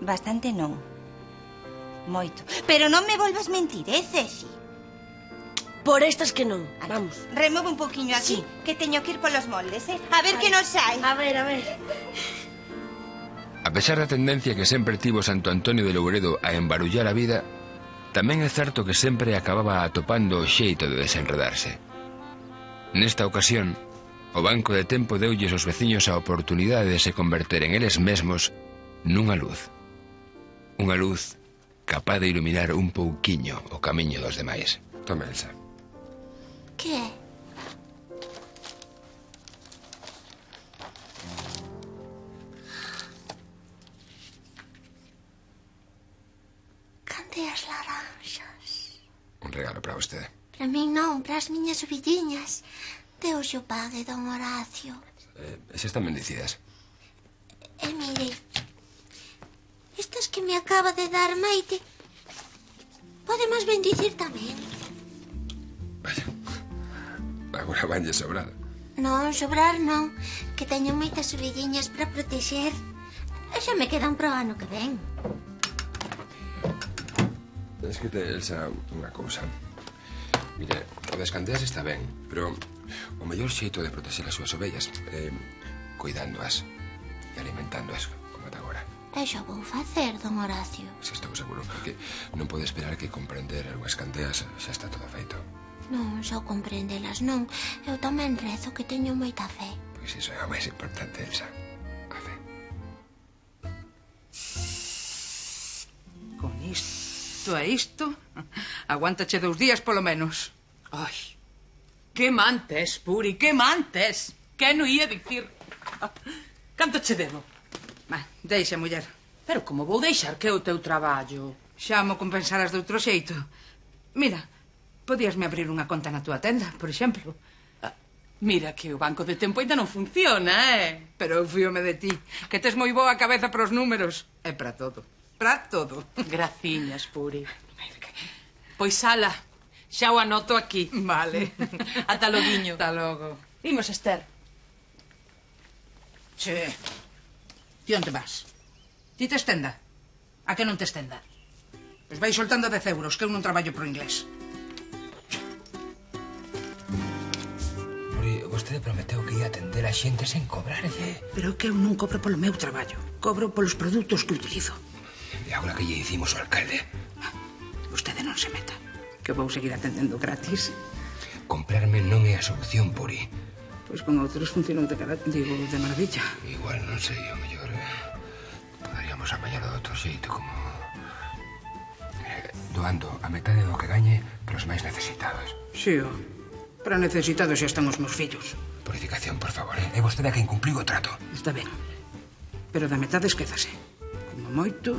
Bastante non. Moito. Pero non me volvas mentir, Ceci? Por estas que non, vamos. Remove un poquinho aquí, sí. Que teño que ir polos moldes, A ver que nos hai. A ver. A pesar da tendencia que sempre tivo Santo Antonio de Louredo a embarullar a vida, tamén é certo que sempre acababa atopando o xeito de desenredarse. Nesta ocasión, o Banco de Tempo deulles aos veciños a oportunidade de se converter en eles mesmos nunha luz. Unha luz capaz de iluminar un pouquiño o camiño dos demais. Toma, Elsa. Que é? Candeas laranxas. Un regalo para vostede. Para min non, para as miñas ovilliñas. Deus o pague, don Horacio. Esas están bendicidas. E mire, estas que me acaba de dar Maite, podemos bendicir tamén. Vaya, agora vanlle sobrar. Non, sobrar non, que teño moitas ovilliñas para protexer. E xa me quedan pro ano que ven. Escrite, Elsa, unha cousa. Mire, o das candeas está ben, pero o mellor xeito de protexer as súas ovellas é cuidándoas e alimentándoas, como ata agora. E xa vou facer, don Horacio. Se estou seguro, porque non pode esperar que comprender as candeas xa está todo feito. Non, só comprendelas non. Eu tamén rezo que teño moita fe. Pois iso é o máis importante, Elsa. A fe. Con isto e isto, aguántache 2 días polo menos. Ai, que mantes, Puri, que mantes. Que non ia dicir. Canto che debo? Deixa, muller. Pero como vou deixar que é o teu traballo? Xa mo compensarás de outro xeito. Mira, podíasme abrir unha conta na túa tenda, por exemplo. Mira que o Banco de Tempo ainda non funciona, Pero eu fíome de ti, que tes moi boa cabeza para os números. É para todo, para todo. Graciñas, Puri. Pois ala, xa o anoto aquí. Vale. Ata loguiño. Ata logo. Imos, Esther. Che, ti onde vas? Ti tes tenda? A que non tes tenda? Pois vai soltando 10 euros, que eu non traballo pro inglés. Vostede prometeu que ia atender a xente sen cobrarlle. Pero que eu non cobro polo meu traballo. Cobro polos produtos que utilizo. E agora que lle dicimos ao alcalde? Vostede non se meta, que vou seguir atendendo gratis. Comprarme non é a solución, Puri. Pois con outros funcionou de maravilla. Igual, non sei, o mellor poderíamos apañar de outro xeito, como doando a metade do que gañe para os máis necesitados. Sí, para necesitados xa están os meus fillos. Purificación, por favor, é vostede a quen cumpliu o trato. Está ben, pero da metade esquézase. Como moito,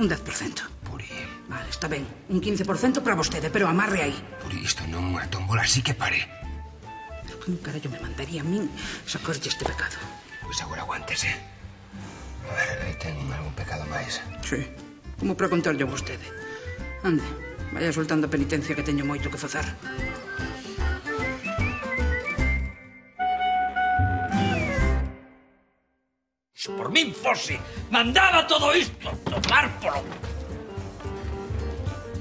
un 10%. Puri. Vale, está ben, un 15% para vostede, pero amarre aí. Puri, isto non é unha tómbola, así que pare. Pero que un carallo me mandaría a min sacarlle este pecado? Pois agora aguántese. A ver, ten algún pecado máis? Sí, como para contarlle a vostede. Ande, vaya soltando a penitencia que teño moito que facer. Se por min fose, mandaba todo isto tomar polo...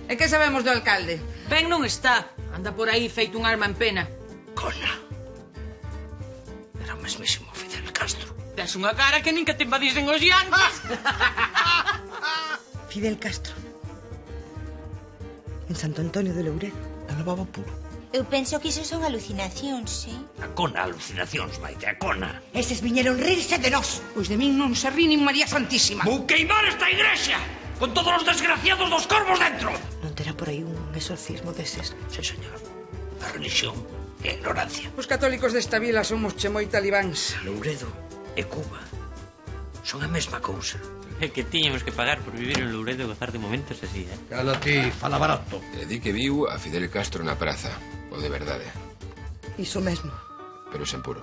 E que sabemos do alcalde? Ben non está. Anda por aí feito un alma en pena. Cona. Era o mesmísimo Fidel Castro. Tes unha cara que nin que te invadisen os yanquis. Fidel Castro. En Santo Antonio de Louredo. Levaba puro. Eu penso que iso son alucinacións, A cona, alucinacións, Maite, a cona. Eses viñeron rirse de nós. Pois de min non se ri nin María Santísima. Vou queimar esta igrexa, con todos os desgraciados dos corvos dentro. Non terá por aí un exorcismo deses? Sí, señor. A religión e a ignorancia. Os católicos desta vila somos che moi talibáns. Louredo e Cuba son a mesma cousa. É que tiñamos que pagar por vivir en Louredo e gozar de momentos así, Cala ti, fala barato. E di que viu a Fidel Castro na praza. O de verdade. Iso mesmo. Pero sen puro.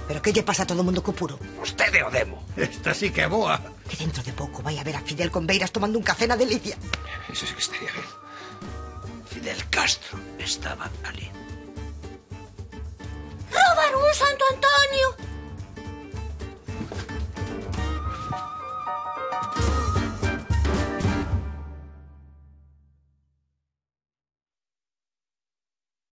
Pero que lle pasa a todo o mundo co puro? Vostede o demo. Esta sí que é boa. Que dentro de pouco vai a ver a Fidel con Beiras tomando un café na delicia. Eso sí que estaría ben. Fidel Castro estaba ali. Roubaron un Santo Antonio.